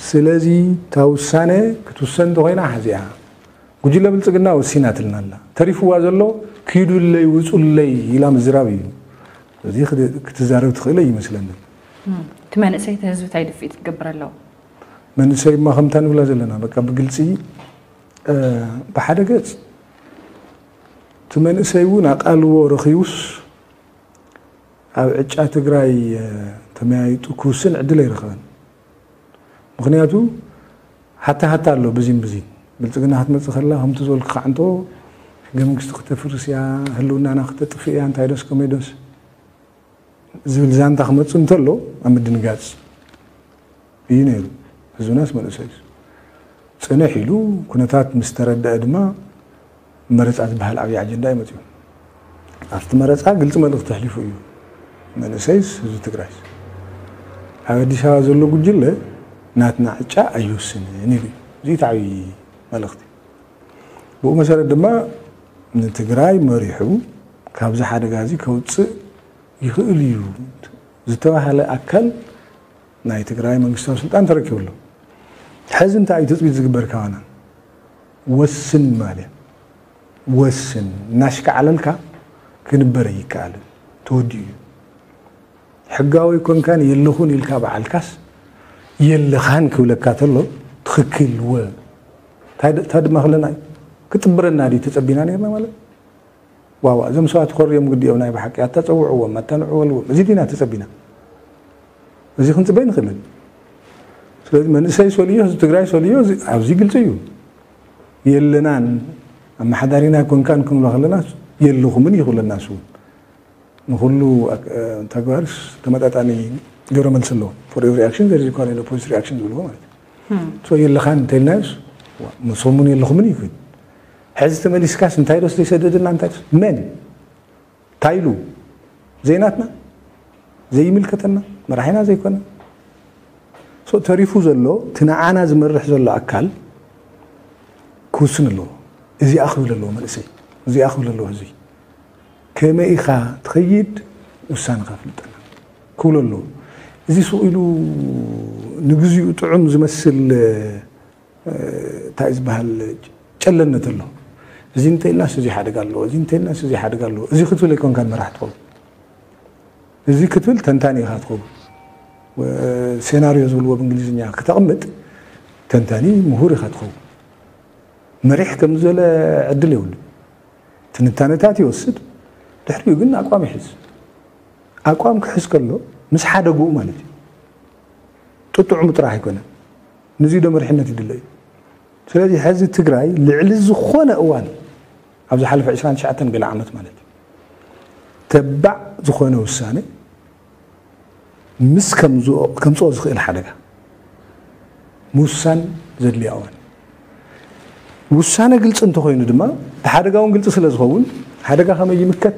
ስለዚ እታ ውሳነ ክትውሰን እንተኮይና ሓዚኣ ጉጅለ ብልፅግና ወሲናትልና ኣላ። ተሪፍዋ ዘሎ ኪዱለይ ውፁለይ ኢላ ምዝራብ እዩ። እዚ ክት- ክትዛረብ ትኽእል ኣይመስለንን። እቲ መንእሰይ እቲ ህዝቢ እንታይ ድፍኢት ክገብር ኣለዎ? መንእሰይ እማ ከምታ ንብላ ዘለና በቃ ብግልፂ እ፣ ብሓደ ገፅ እቲ መንእሰይ እውን ኣቃልቦ ረኺቡስ ኣብ ዕጫ ትግራይ እ፣ ተመያይጡ ክውስን ዕድል ኣይረኸበን። ምክንያቱ ሃታ ሃታ ኣሎ ብዚን ብዚን ብልፅግና ክትመፅእ ከላ ከምቲ ዝበልኩ ከዓንቶ ሕገ መንግስቲ ክተፍርስ እያ፣ ህልውናና ክተጥፍእ እያ፣ እንታይ ዶስ ከመይ ዶስ ዝብል ዛንታ ክመፅእ እንተሎ ኣብ ምድንጋፅ እዩ ነይሩ። ህዝብናስ መንእሰይ እዩ። ፅንሕ ኢሉ ኩነታት ምስ ተረደአ ድማ መረፃ ዝበሃል ዓብዪ ኣጀንዳ እዩ መፂኡ። ኣብቲ መረፃ ግልፂ መልእኽቲ ኣሕሊፉ እዩ። መንእሰይስ ህዝቢ ትግራይስ ኣብ ኣዲስ ኣበባ ዘሎ ጉጅለ ናትና ዕጫ ኣይውስንን ኢሉ እዩ። እዚ እቲ ዓብዪ መልእኽቲ። ብኡ መሰረት ድማ ንትግራይ መሪሑ ካብዚ ሓደጋ እዚ ከውፅእ ይኽእል እዩ ዝተባሃለ ኣካል ናይ ትግራይ መንግስታዊ ስልጣን ተረኪቡ ኣሎ። ሕዚ እንታይ እዩ ትፅቢት ዝግበር ካባና? ወስን ማለት ወስን እናሽካዕለልካ ክንበር ኣይከኣልን። ተወዲኡ እዩ። ሕጋዊ ኮንካን የለኹን ኢልካ በዓልካስ የለኻን ክብለካ ተሎ ትኽክል ወ እንታይ ድ- እንታይ ድማ ክለና እዩ? ክጥብረና ድዩ ተፀቢና ነርና ማለት ዋዋ እዞም ሰባት ኮርዮም ግዲኦም ናይ ብሓቂ ኣታፀውዕዎም ኣታንዕወልዎም እዚ ዲና ተፀቢና እዚ ክንፅበይ ንኽእልን ስለዚ መንእሰይ ሰልዮ ህዝቢ ትግራይ ሰልዮ ኣብዚ ግልፂ እዩ የለናን፣ ኣመሓዳሪና ኣይኮንካን ክንብሎ ከለና የለኹምን እዩ ክብለና ንሱ እውን። ንኹሉ ተግባርስ ተመጣጣኒ ግብረ መልሲ ኣለዎ። For every action there is equal and opposite reaction ዝብልዎ ማለት እዩ። የለኻን እንተልናዮስ ንሶም እውን የለኹምን እዩ ክብል። ሕዚ ተመሊስካስ እንታይ ዶስ ዘይሰደደና እንታይ ዶስ መን እንታይ ኢሉ ዘይናትና ዘይምልከተና መራሒና ዘይኮነ ተሪፉ ዘሎ እቲ ንዓና ዝመርሕ ዘሎ ኣካል ክውስን ኣለዎ። እዚኣ ክብል ኣለዎ መንእሰይ፣ እዚኣ ክብል ኣለዎ ህዝቢ። ከመይ ኢኻ ትኸይድ ውሳነኻ ፍልጠና ክብሎ ኣለዎ። እዚ ስቕ ኢሉ ንግዚኡ ጥዑም ዝመስል እንታይ ዝበሃል ጨለነት ኣሎ። እዚ እንተኢልናስ እዚ ሓደጋ ኣለዎ፣ እዚ እንተኢልናስ እዚ ሓደጋ ኣለዎ። እዚ ክትብል ኣይኮንካን መራሕ ትኸውን። እዚ ክትብል ተንታኒ ኢኻ ትኸውን። ሴናሪዮ ዝብልዎ ብእንግሊዝኛ ክተቕምጥ ተንታኒ ምሁር ኢኻ ትኸውን። መሪሕ ከም ዝበለ ዕድል የብሉ። ትንታነታት ይወስድ፣ ድሕሪኡ ግን ኣቋም ይሕዝ። ኣቋም ክሕዝ ከሎ ምስ ሓደግኡ ማለት እዩ። ጥጥዑሙ ጥራሕ ኣይኮነን። ንዚ ዶ መሪሕነት ይድለ እዩ። ስለዚ ሕዚ ትግራይ ልዕሊ ዝኾነ እዋን ኣብ ዝሓለፈ ዕስራን ትሽዓተን ገለ ዓመት ማለት እዩ ተባዕ ዝኾነ ውሳነ ምስ ከምዝኦ- ከምፅኦ ዝኽእል ሓደጋ ምውሳን ዘድልያ እዋን ውሳነ ግልፂ እንተኾይኑ ድማ እቲ ሓደጋ እውን ግልፂ ስለ ዝኸውን ሓደጋ ከመይ ይምከት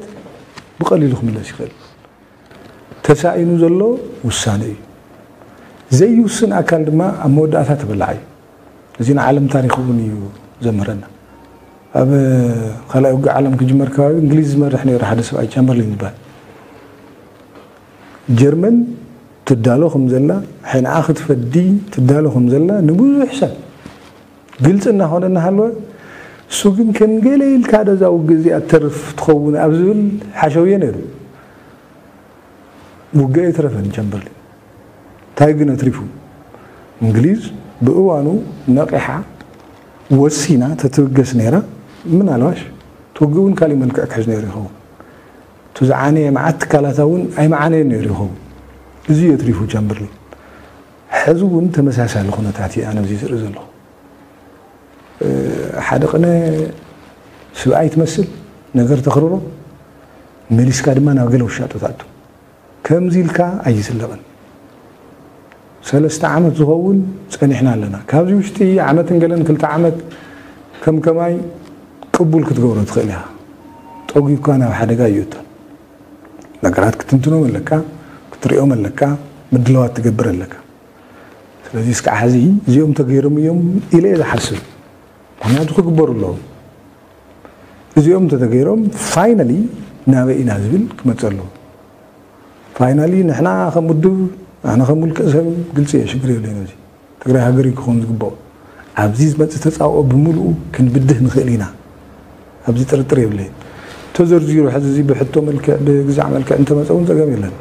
ብቐሊሉ ክምለስ ይኽእል። ተሳኢኑ ዘሎ ውሳነ እዩ። ዘይውስን ኣካል ድማ ኣብ መወዳእታ ተበላዓ እዩ። እዚ ንዓለም ታሪክ እውን እዩ ዘምህረና። ኣብ ካልኣይ ውግእ ዓለም ክጅመር ከባቢ እንግሊዝ ዝመርሕ ነይሩ ሓደ ሰብኣይ ቻምበርሊን ዝበሃል። ጀርመን ትዳሎ ከም ዘላ ሕንዓ ክትፈዲ ትዳሎ ከም ዘላ ንብዙሕ ሰብ ግልፂ እናኾነ እናሃለወ እሱ ግን ከም ገለ ኢልካ ደዛ ውግእ እዚኣ ተርፍ ትኸውን ኣብ ዝብል ሓሸውየ ነይሩ። ውግእ ኣይተረፈን ቻምበርሊን። እንታይ ግን ኣትሪፉ? እንግሊዝ ብእዋኑ ነቒሓ ወሲና ተትብገስ ነይራ ምናልባሽ ትውግእ እውን ካሊእ መልክዕ ክሕዝ ነይሩ ይኸውን። እቲ ዝዓነየ መዓት ትካላታ እውን ኣይመዓነየን ነይሩ ይኸውን። እዚ እዩ ኣትሪፉ ቻምበርሊን። ሕዚ እውን ተመሳሳሊ ኩነታት እዩ ኣነ እዚ ዝርኢ ዘለኹ። ሓደ ቅነ ስብኣይ ትመስል ነገር ተኽርሮ መሊስካ ድማ ናብ ገለ ውሻጦ ትኣቱ። ከምዚ ኢልካ ኣይዝለቕን። ሰለስተ ዓመት ዝኸውን ጸኒሕና ኣለና። ካብዚ ውሽጢ ዓመትን ገለን ክልተ ዓመት ከም ከማይ ቅቡል ክትገብሮ ትኽእል ኢኻ። ጠጒካ ናብ ሓደጋ ይእቶን። ነገራት ክትንትኖም ኣለካ፣ ክትሪኦም ኣለካ፣ ምድላዋት ትገብር ኣለካ። ስለዚ እስካዕ ሕዚ እዚኦም ተገይሮም እዮም ኢለ እየ ዝሓስብ። ምክንያቱ ክግበሩ ኣለዎም። እዚኦም እንተተገይሮም ፋይናሊ ናበይ ኢና ዝብል ክመፅእ ኣለዎ። ፋይናሊ ንሕና ከም ውድብ ኣነ ከም ውልቀ ሰብ ግልፂ እየ ሽግር የብለይን። እዚ ትግራይ ሃገር እዩ ክኸውን ዝግበኦ። ኣብዚ ዝመፅእ ተፃብኦ ብምልኡ ክንብድህ ንኽእል ኢና። ኣብዚ ጥርጥር የብለይን። ተዘርዚሩ ሕዚ እዚ ብሕቶ መልክዕ ብግዛዕ መልክዕ እንተመፀ እውን ፀገም የለን።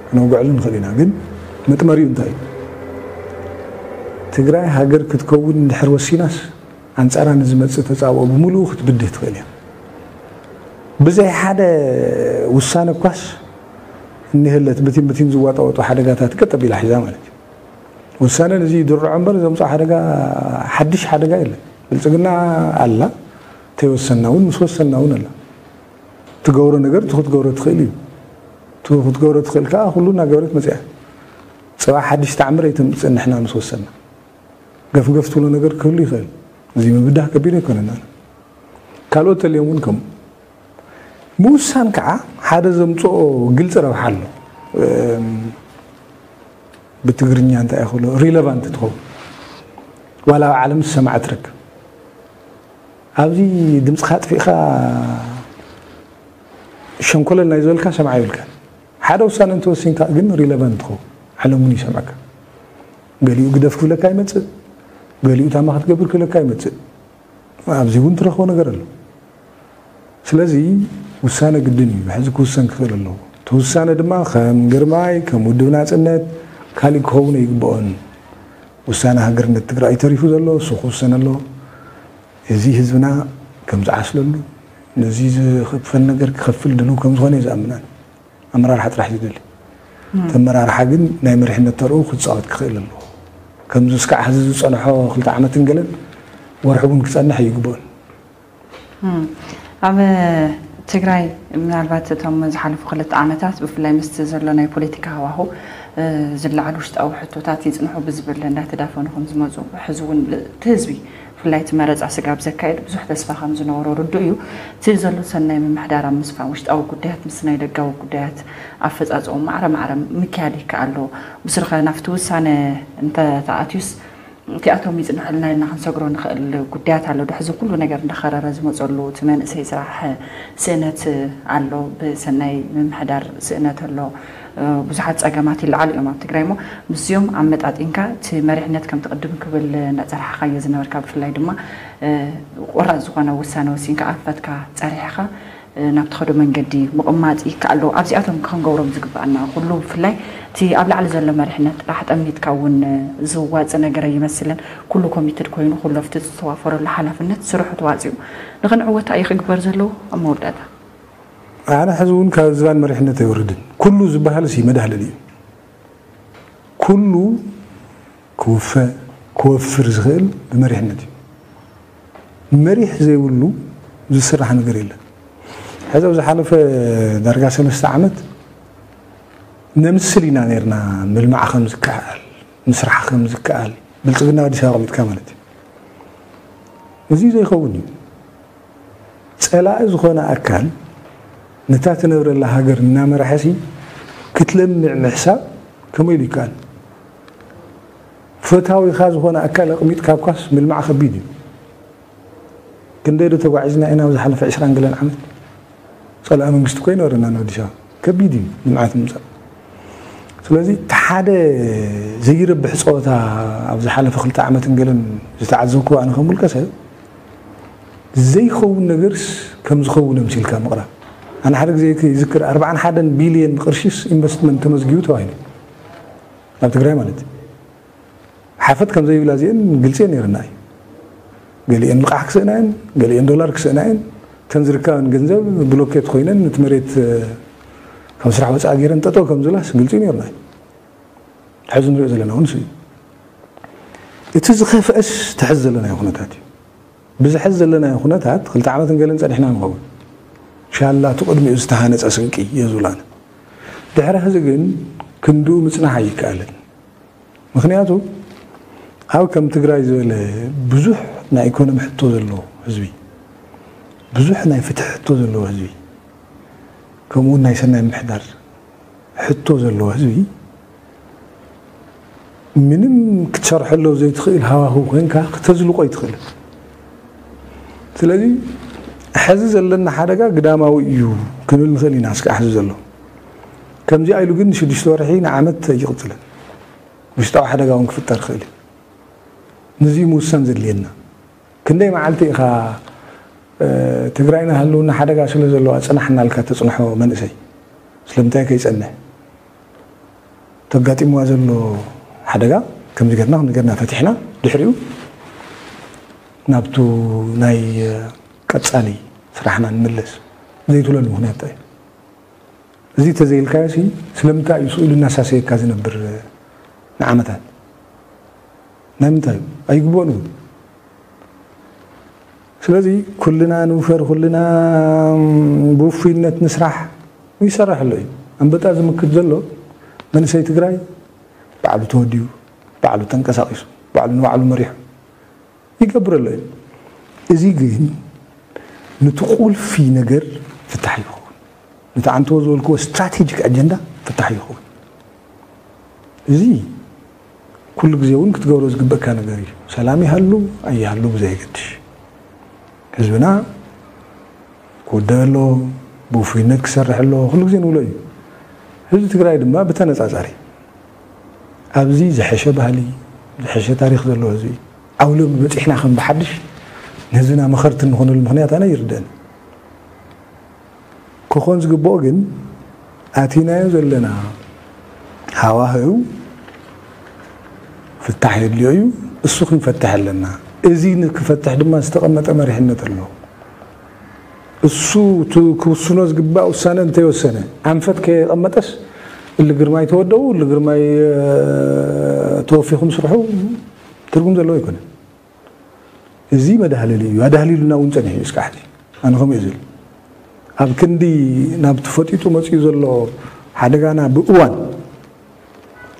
ክነውግዐሉ ንኽእል ኢና። ግን መጥመሪኡ እንታይ እዩ? ትግራይ ሃገር ክትከውን እንድሕር ወሲናስ ኣንፃራ ንዝመፅእ ተፃብኦ ብምልኡ ክትብድህ ትኽእል እያ። ብዘይ ሓደ ውሳነ እኳስ እኒሀለት ብቲን ብቲን ዝዋጣወጡ ሓደጋታት ቀጥ ኣቢላ ሒዛ ማለት እዩ። ውሳነ ነዚ ይድርዖ እምበር ዘምፅኦ ሓደጋ ሓድሽ ሓደጋ የለን። ብልፅግና ኣላ ተይወሰና እውን ምስ ወሰና እውን ኣላ። ትገብሮ ነገር እቲ ክትገብሮ ትኽእል እዩ። እቲ ክትገብሮ ትኽእል ከዓ ኩሉ እናገበረት መፅያ። ፅባሕ ሓድሽ ተዓምር ኣይተምፅእ ንሕና ምስ ወሰና። ገፍገፍ ትብሎ ነገር ክህሉ ይኽእል። እዚ ምብዳህ ከቢድ ኣይኮነን። ካልኦት ተልዮም እውን ከምኡ ምውሳን ከዓ ሓደ ዘምፅኦ ግልፂ ረብሓ ኣሎ። ብትግርኛ እንታይ ይኽእሎ ሪለቫንት ትኸውን ዋላ ኣብ ዓለም ዝሰማዕ ትረክብ። ኣብዚ ድምፅኻ ኣጥፊእኻ ሸንኮለል ናይ ዝበልካ ሰምዓ ይብልካ። ሓደ ውሳነ እንተወሲንካ ግን ሪለቫንት ትኸውን ዓለም እውን ይሰምዐካ። ገሊኡ ግደፍ ክብለካ ይመፅእ፣ ገሊኡ ታማ ክትገብር ክብለካ ይመፅእ። ኣብዚ እውን ትረኽቦ ነገር ኣሎ። ስለዚ ውሳነ ግድን እዩ፣ ሕዚ ክውሰን ክኽእል ኣለዎ። እቲ ውሳነ ድማ ከም ግርማይ፣ ከም ውድብ ናፅነት፣ ካሊእ ክኸውን ኣይግበኦን። ውሳነ ሃገርነት ትግራይ ተሪፉ ዘሎ እሱ ክውሰን ኣለዎ። እዚ ህዝብና ከም ዝዓስለሉ፣ ነዚ ዝኽፈል ነገር ክኸፍል ድልው ከም ዝኾነ እዩ ዝኣምናን። ኣመራርሓ ጥራሕ ዝደሊ ተመራርሓ ግን ናይ መሪሕነት ተርኡ ክፃወት ክኽእል ኣለዎ። ከምዚ እስካዕ ሕዚ ዝፀንሖ ክልተ ዓመትን ገለን ወርሒ እውን ክጸንሕ ኣይግብኦን። ኣብ ትግራይ ምናልባት እቶም ዝሓለፉ ክልተ ዓመታት ብፍላይ ምስቲ ዘሎ ናይ ፖለቲካ ሃዋሁ ዝለዓሉ ውሽጣዊ ሕቶታት ይፅንሑ ብዝብል እንዳተዳፈኑ ከም ዝመፁ ሕዚ እውን እቲ ህዝቢ ብፍላይ እቲ መረፃ ስጋብ ዘካየድ ብዙሕ ተስፋ ከም ዝነበሮ ርዱእ እዩ። እቲ ዘሎ ሰናይ ምምሕዳር ኣብ ምስፋን ውሽጣዊ ጉዳያት ምስ ናይ ደጋዊ ጉዳያት ኣፈፃፅኦም ማዕረ ማዕረ ምክያድ ይከኣል ዶ? ብስሩ ከ ናብቲ ውሳነ እንተተኣትዩስ እቲኣቶም ይፅንሑልና ኢልና ክንሰግሮ ንኽእል ጉዳያት ኣሎ። ድሕዚ ኩሉ ነገር እንዳኸረረ ዝመፀሉ እቲ መንእሰይ ስራሕ ስእነት ኣሎ፣ ብሰናይ ምምሕዳር ስእነት ኣሎ። ብዙሓት ፀገማት ይለዓሉ እዮም ኣብ ትግራይ እሞ ምስዚኦም ኣመጣጢንካ እቲ መሪሕነት ከምቲ ቅድም ክብል እንዳፀራሕኻዮ ዝነበርካ ብፍላይ ድማ ቆራፅ ዝኾነ ውሳነ ወሲንካ ኣንፈትካ ፀሪሕኻ ናብ ትኸዶ መንገዲ ምቕማጥ ይከኣል ዶ? ኣብዚኣቶም ክንገብሮም ዝግበኣና ኩሉ ብፍላይ እቲ ኣብ ላዕሊ ዘሎ መሪሕነት ጥራሕ ጠሚትካ እውን ዝዋፅ ነገር ኣይመስልን። ኩሉ ኮሚትድ ኮይኑ ኩሉ ኣብቲ ዝተዋፈረሉ ሓላፍነት ስርሑ ተዋፂኡ ንኽንዕወት እዩ ክግበር ዘለዎ። ኣብ መወዳእታ ኣነ ሕዚ እውን ካብ ዝባን መሪሕነት ኣይወርድን። ኩሉ ዝበሃል ሲ መዳህለል እዩ። ኩሉ ክውፈ ክወፍር ዝኽእል ብመሪሕነት እዩ። መሪሕ ዘይብሉ ዝስራሕ ነገር የለን። ሕዚ ኣብ ዝሓለፈ ዳርጋ ሰለስተ ዓመት ነምስል ኢና ነርና። ምልማዕ ከም ዝከኣል፣ ምስራሕ ከም ዝከኣል፣ ብልፅግና ኣዲስ ኣበባ ኣቐሚጥካ ማለት እዩ። እዚ ዘይኸውን እዩ። ፀላኢ ዝኾነ ኣካል ነታ ትነብረላ ሃገር እናመርሐ ሲ ክትለምዕ ምሕሳብ ከመይ ኢሉ ይከኣል? ፈታዊኻ ዝኾነ ኣካል ኣቕሚጥካ እኳስ ምልማዕ ከቢድ እዩ። ክንደይ ዶ ተጓዒዝና ኢና ኣብ ዝሓለፈ ዕስራን ገለን ዓመት? ፀላኢ መንግስቲ እኮ ኣይነበረናን ኣብ ኣዲስ ኣበባ። ከቢድ እዩ ልምዓት ምምፃእ። ስለዚ እቲ ሓደ ዘይረብሕ ፀወታ ኣብ ዝሓለፈ ክልተ ዓመትን ገለን ዝተዓዘብኩዎ ኣነ ከም ውልቀ ሰብ ዘይኸውን ነገርስ ከም ዝኸውን ኣምሲልካ ምቕራብ። ኣነ ሓደ ግዜ ይዝክር ኣርባዓን ሓደን ቢልየን ቅርሺስ ኢንቨስትመንት ተመዝጊቡ ተባሂሉ ኣብ ትግራይ ማለት እዩ። ሓፈት ከም ዘይብላ እዚአን ግልፂ ነይርና እዩ። ገሊአን ልቓሕ ክስእና እየን፣ ገሊአን ዶላር ክስእና እየን። እተን ዝርከበን ገንዘብ ብሎኬት ኮይነን ነቲ መሬት ካብ ስራሕ ወፃኢ ገይረን ጠጠው ከም ዝብላስ ግልፂ ነይርና እዩ። ሕዚ ንሪኦ ዘለና እውን እሱ እዩ። እቲ ዝኸፍአስ ትሕዚ ዘለናዮ ኩነታት እዩ። ብዝሐዚ ዘለናዮ ኩነታት ክልተ ዓመትን ገለን ጸኒሕና ንኸውን። ሻላ እቲ ቅድሚኡ ዝተሃነጸ ስንቂ እየ ዝብላን። ድሕሪ ሕዚ ግን ክንድኡ ምጽናሕ ኣይከኣልን። ምኽንያቱ ኣብ ከም ትግራይ ዝበለ ብዙሕ ናይ ኢኮኖሚ ሕቶ ዘለዎ ህዝቢ፣ ብዙሕ ናይ ፍትሒ ሕቶ ዘለዎ ህዝቢ፣ ከምኡ እውን ናይ ሰናይ ምምሕዳር ሕቶ ዘለዎ ህዝቢ ምንም ክትሰርሐሉ ዘይትኽእል ሃዋህው ኮይንካ ክተዝልቆ ኣይትኽእልን። ስለዚ ሕዚ ዘለና ሓደጋ ግዳማዊ እዩ ክንብል ንኽእል ኢና። እስካዕ ሕዚ ዘሎ ከምዚኣ ኢሉ ግን ንሽዱሽተ ወርሒ ንዓመት ኣይቕፅልን። ውሽጣዊ ሓደጋ እውን ክፍጠር ይኽእል እዩ። ንዚ ምውሳን ዘድልየና ክንደይ መዓልቲ ኢኻ ትግራይና ህልውና ሓደጋ ስለ ዘለዋ ፅናሕና ኢልካ ተፅንሖ መንእሰይ ስለምንታይ ከይፀንሕ? ተጋጢምዋ ዘሎ ሓደጋ ከምዚ ገርና ከምዚ ገርና ፈቲሕና ድሕሪኡ ናብቱ ናይ ቀፃሊ ስራሕና ንምለስ ዘይትብለሉ ምክንያት እንታይ እዩ? እዚ ተዘይልካዮ ሲ ስለምንታይ እዩ ስእሉ እናሳሰየካ ዝነብር ንዓመታት? ናይ ምንታይ እዩ? ኣይግብኦን እውን። ስለዚ ኩልና ንውፈር፣ ኩልና ብውፉይነት ንስራሕ። ይሰርሕ ኣሎ እዩ። ኣንበጣ ዝምክት ዘሎ መንእሰይ ትግራይ ባዕሉ ተወዲቡ፣ ባዕሉ ተንቀሳቒሱ፣ ባዕሉ ንባዕሉ መሪሑ ይገብር ኣሎ እዩ። እዚ ግን ነቲ ቁልፊ ነገር ፍታሕ ይኸውን። ነቲ ኣንተዎ ዝበልክዎ ስትራቴጂክ ኣጀንዳ ፍታሕ ይኸውን። እዚ ኩሉ ግዜ እውን ክትገብሮ ዝግበእካ ነገር እዩ። ሰላም ይሃሉ ኣይሃሉ ብዘየገድሽ ህዝብና ክውደእ ኣሎ፣ ብውፉይነት ክሰርሕ ኣሎ፣ ኩሉ ግዜ ንብሎ እዩ። ህዝቢ ትግራይ ድማ ብተነፃፃሪ ኣብዚ ዝሐሸ ባህሊ፣ ዝሐሸ ታሪክ ዘለዎ ህዝቢ ዓውሎ በፂሕና ከም ብሓድሽ ንህዝብና መኸርቲ እንኾነሉ ምክንያት ኣነ ይርደአኒ። ክኾን ዝግብኦ ግን ኣቲናዮ ዘለና ሃዋህው ፍታሕ የድልዮ እዩ። እሱ ክንፈትሕ ኣለና። እዚ ንክፈትሕ ድማ ዝተቐመጠ መሪሕነት ኣሎ። እሱ እቲ ክውስኖ ዝግባእ ውሳነ እንተይወሰነ ኣንፈት ከየቐመጠስ እሊ ግርማይ ተወደቡ፣ እሊ ግርማይ ተወፊኹም ስርሑ ትርጉም ዘለዎ ኣይኮነን። እዚ መዳህለሊ እዩ። ኣዳህሊሉና እውን ጸኒሑ እዩ እስካዕ ሕዚ። ኣነ ከምኡ እየ ዝብል። ኣብ ክንዲ ናብ ተፈጢጡ መጺኡ ዘሎ ሓደጋና ብእዋን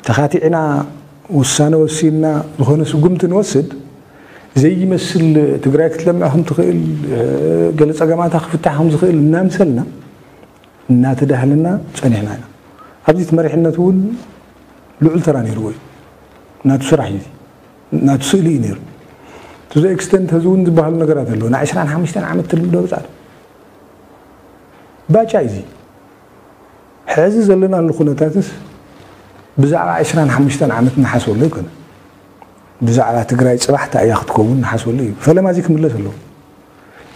ተኻቲዕና ውሳነ ወሲንና ዝኾነ ስጉምቲ ንወስድ ዘይመስል ትግራይ ክትለምዕ ከም ትኽእል፣ ገለ ጸገማታ ክፍታሕ ከም ዝኽእል እናምሰልና እናተዳህልና ጸኒሕና ኢና። ኣብዚ እቲ መሪሕነት እውን ልዑል ተራ ነይርዎ እዩ። ናቱ ስራሕ እዩ። ናቱ ስእሊ እዩ ነይሩ። To the extent ሕዚ እውን ዝበሃሉ ነገራት ኣለዉ። ና ዕስራን ሓሙሽተን ዓመት ትልምዶ ብጻት ባጫ እዩ። ሕዚ ዘለናሉ ኩነታትስ ብዛዕባ ዕስራን ሓሙሽተን ዓመት ንሓስበሉ ኣይኮነ። ብዛዕባ ትግራይ ጽባሕ እንታይ እያ ክትከውን ንሓስበሉ እዩ። ፈለማ እዚ ክምለስ ኣለዎ።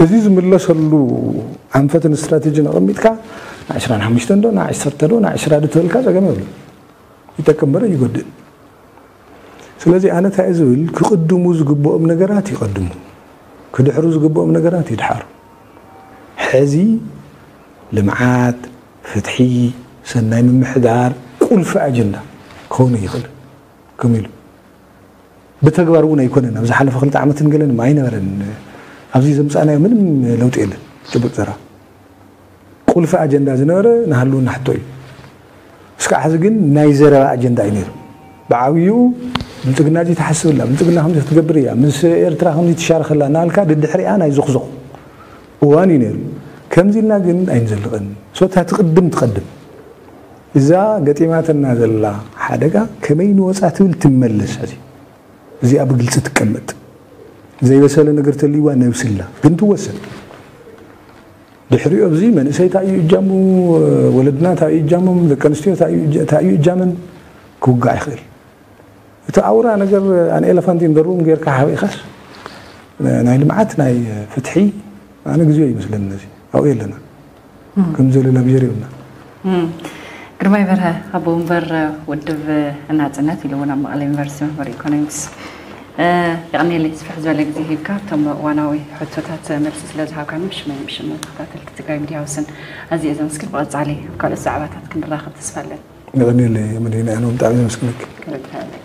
እዚ ዝምለሰሉ ኣንፈትን ስትራቴጂን ኣቐሚጥካ ና ዕስራን ሓሙሽተን ዶ ና ዓሰርተ ዶ ና ዕስራ ዶ ተበልካ ጸገም የብሉ። ይጠቅም እምበር ይጎድእ። ስለዚ ኣነ እንታይ ዝብል ክቕድሙ ዝግብኦም ነገራት ይቐድሙ፣ ክድሕሩ ዝግብኦም ነገራት ይድሓሩ። ሕዚ ልምዓት፣ ፍትሒ፣ ሰናይ ምምሕዳር ቁልፊ ኣጀንዳ ክኸውን ይኽእል። ከም ኢሉ ብተግባር እውን ኣይኮነን። ኣብ ዝሓለፈ ክልተ ዓመትን ገለን ኣይነበረን። ኣብዚ ዘምፃእናዮ ምንም ለውጢ የለን። ጭቡጥ ዘራ ቁልፊ ኣጀንዳ ዝነበረ ንሃልውና ሕቶ እዩ። እስካዕ ሕዚ ግን ናይ ዘረባ ኣጀንዳ እዩ ነይሩ። ብዓብይኡ ብልፅግና እዚ ትሓስብላ፣ ብልፅግና ከምዚ ክትገብር እያ፣ ምስ ኤርትራ ከምዚ ትሻረኸላ እናበልካ ድድሕሪኣ ናይ ዞኽዞኽ እዋን እዩ ነይሩ። ከምዚ ኢልና ግን ኣይንዘልቕን። ሶታ ትቕድም ትቐድም። እዛ ገጢማትና ዘላ ሓደጋ ከመይ ንወፃ ትብል ትመለስ። ሕዚ እዚኣ ብግልፂ ትቀመጥ። ዘይበሰለ ነገር ተልይዋ ነብስላ ግን ትወሰን። ድሕሪኡ ኣብዚ መንእሰይ እንታይ እዩ እጃሙ፣ ወለድና እንታይ እዩ እጃሞም፣ ደቂ ኣንስትዮ እንታይ እዩ እጃ-፣ እንታይ እዩ እጃመን ክውጋዕ ይኽእል። እቲ ኣውራ ነገር ኣን ኤለፋንት ኢን ሩም ጌርካ ሓቢእካስ ናይ ልምዓት ናይ ፍትሒ ኣነ ግዜኡ ይመስለኒ ነዚ ኣብኡ የለና። ከም ዘለ ላብጀር የብልና። እም። ግርማይ በርሀ፣ ኣቦ ወንበር ውድብ ናጽነት ኢሉ እውን ኣብ መቐለ ዩኒቨርሲቲ መምህር ኢኮኖሚክስ። እ፣ የቐንየለይ ስፍሕ ዝበለ ግዜ ሂብካ እቶም እዋናዊ ሕቶታት መልሲ ስለ ዝሃብካኒ ብሽመይ ብሽም ተኸታተልቲ ትግራይ ሚድያ ሃውስን ኣዝየ ዘመስግን። ብቐጻሊ ኣብ ካልኦት ዛዕባታት ክንራኸብ ተስፋ ኣለኒ። የቐንየለይ መዲና፣ ኣነ እውን ብጣዕሚ ዘመስግነኪ። ክብረት ይሃበለይ።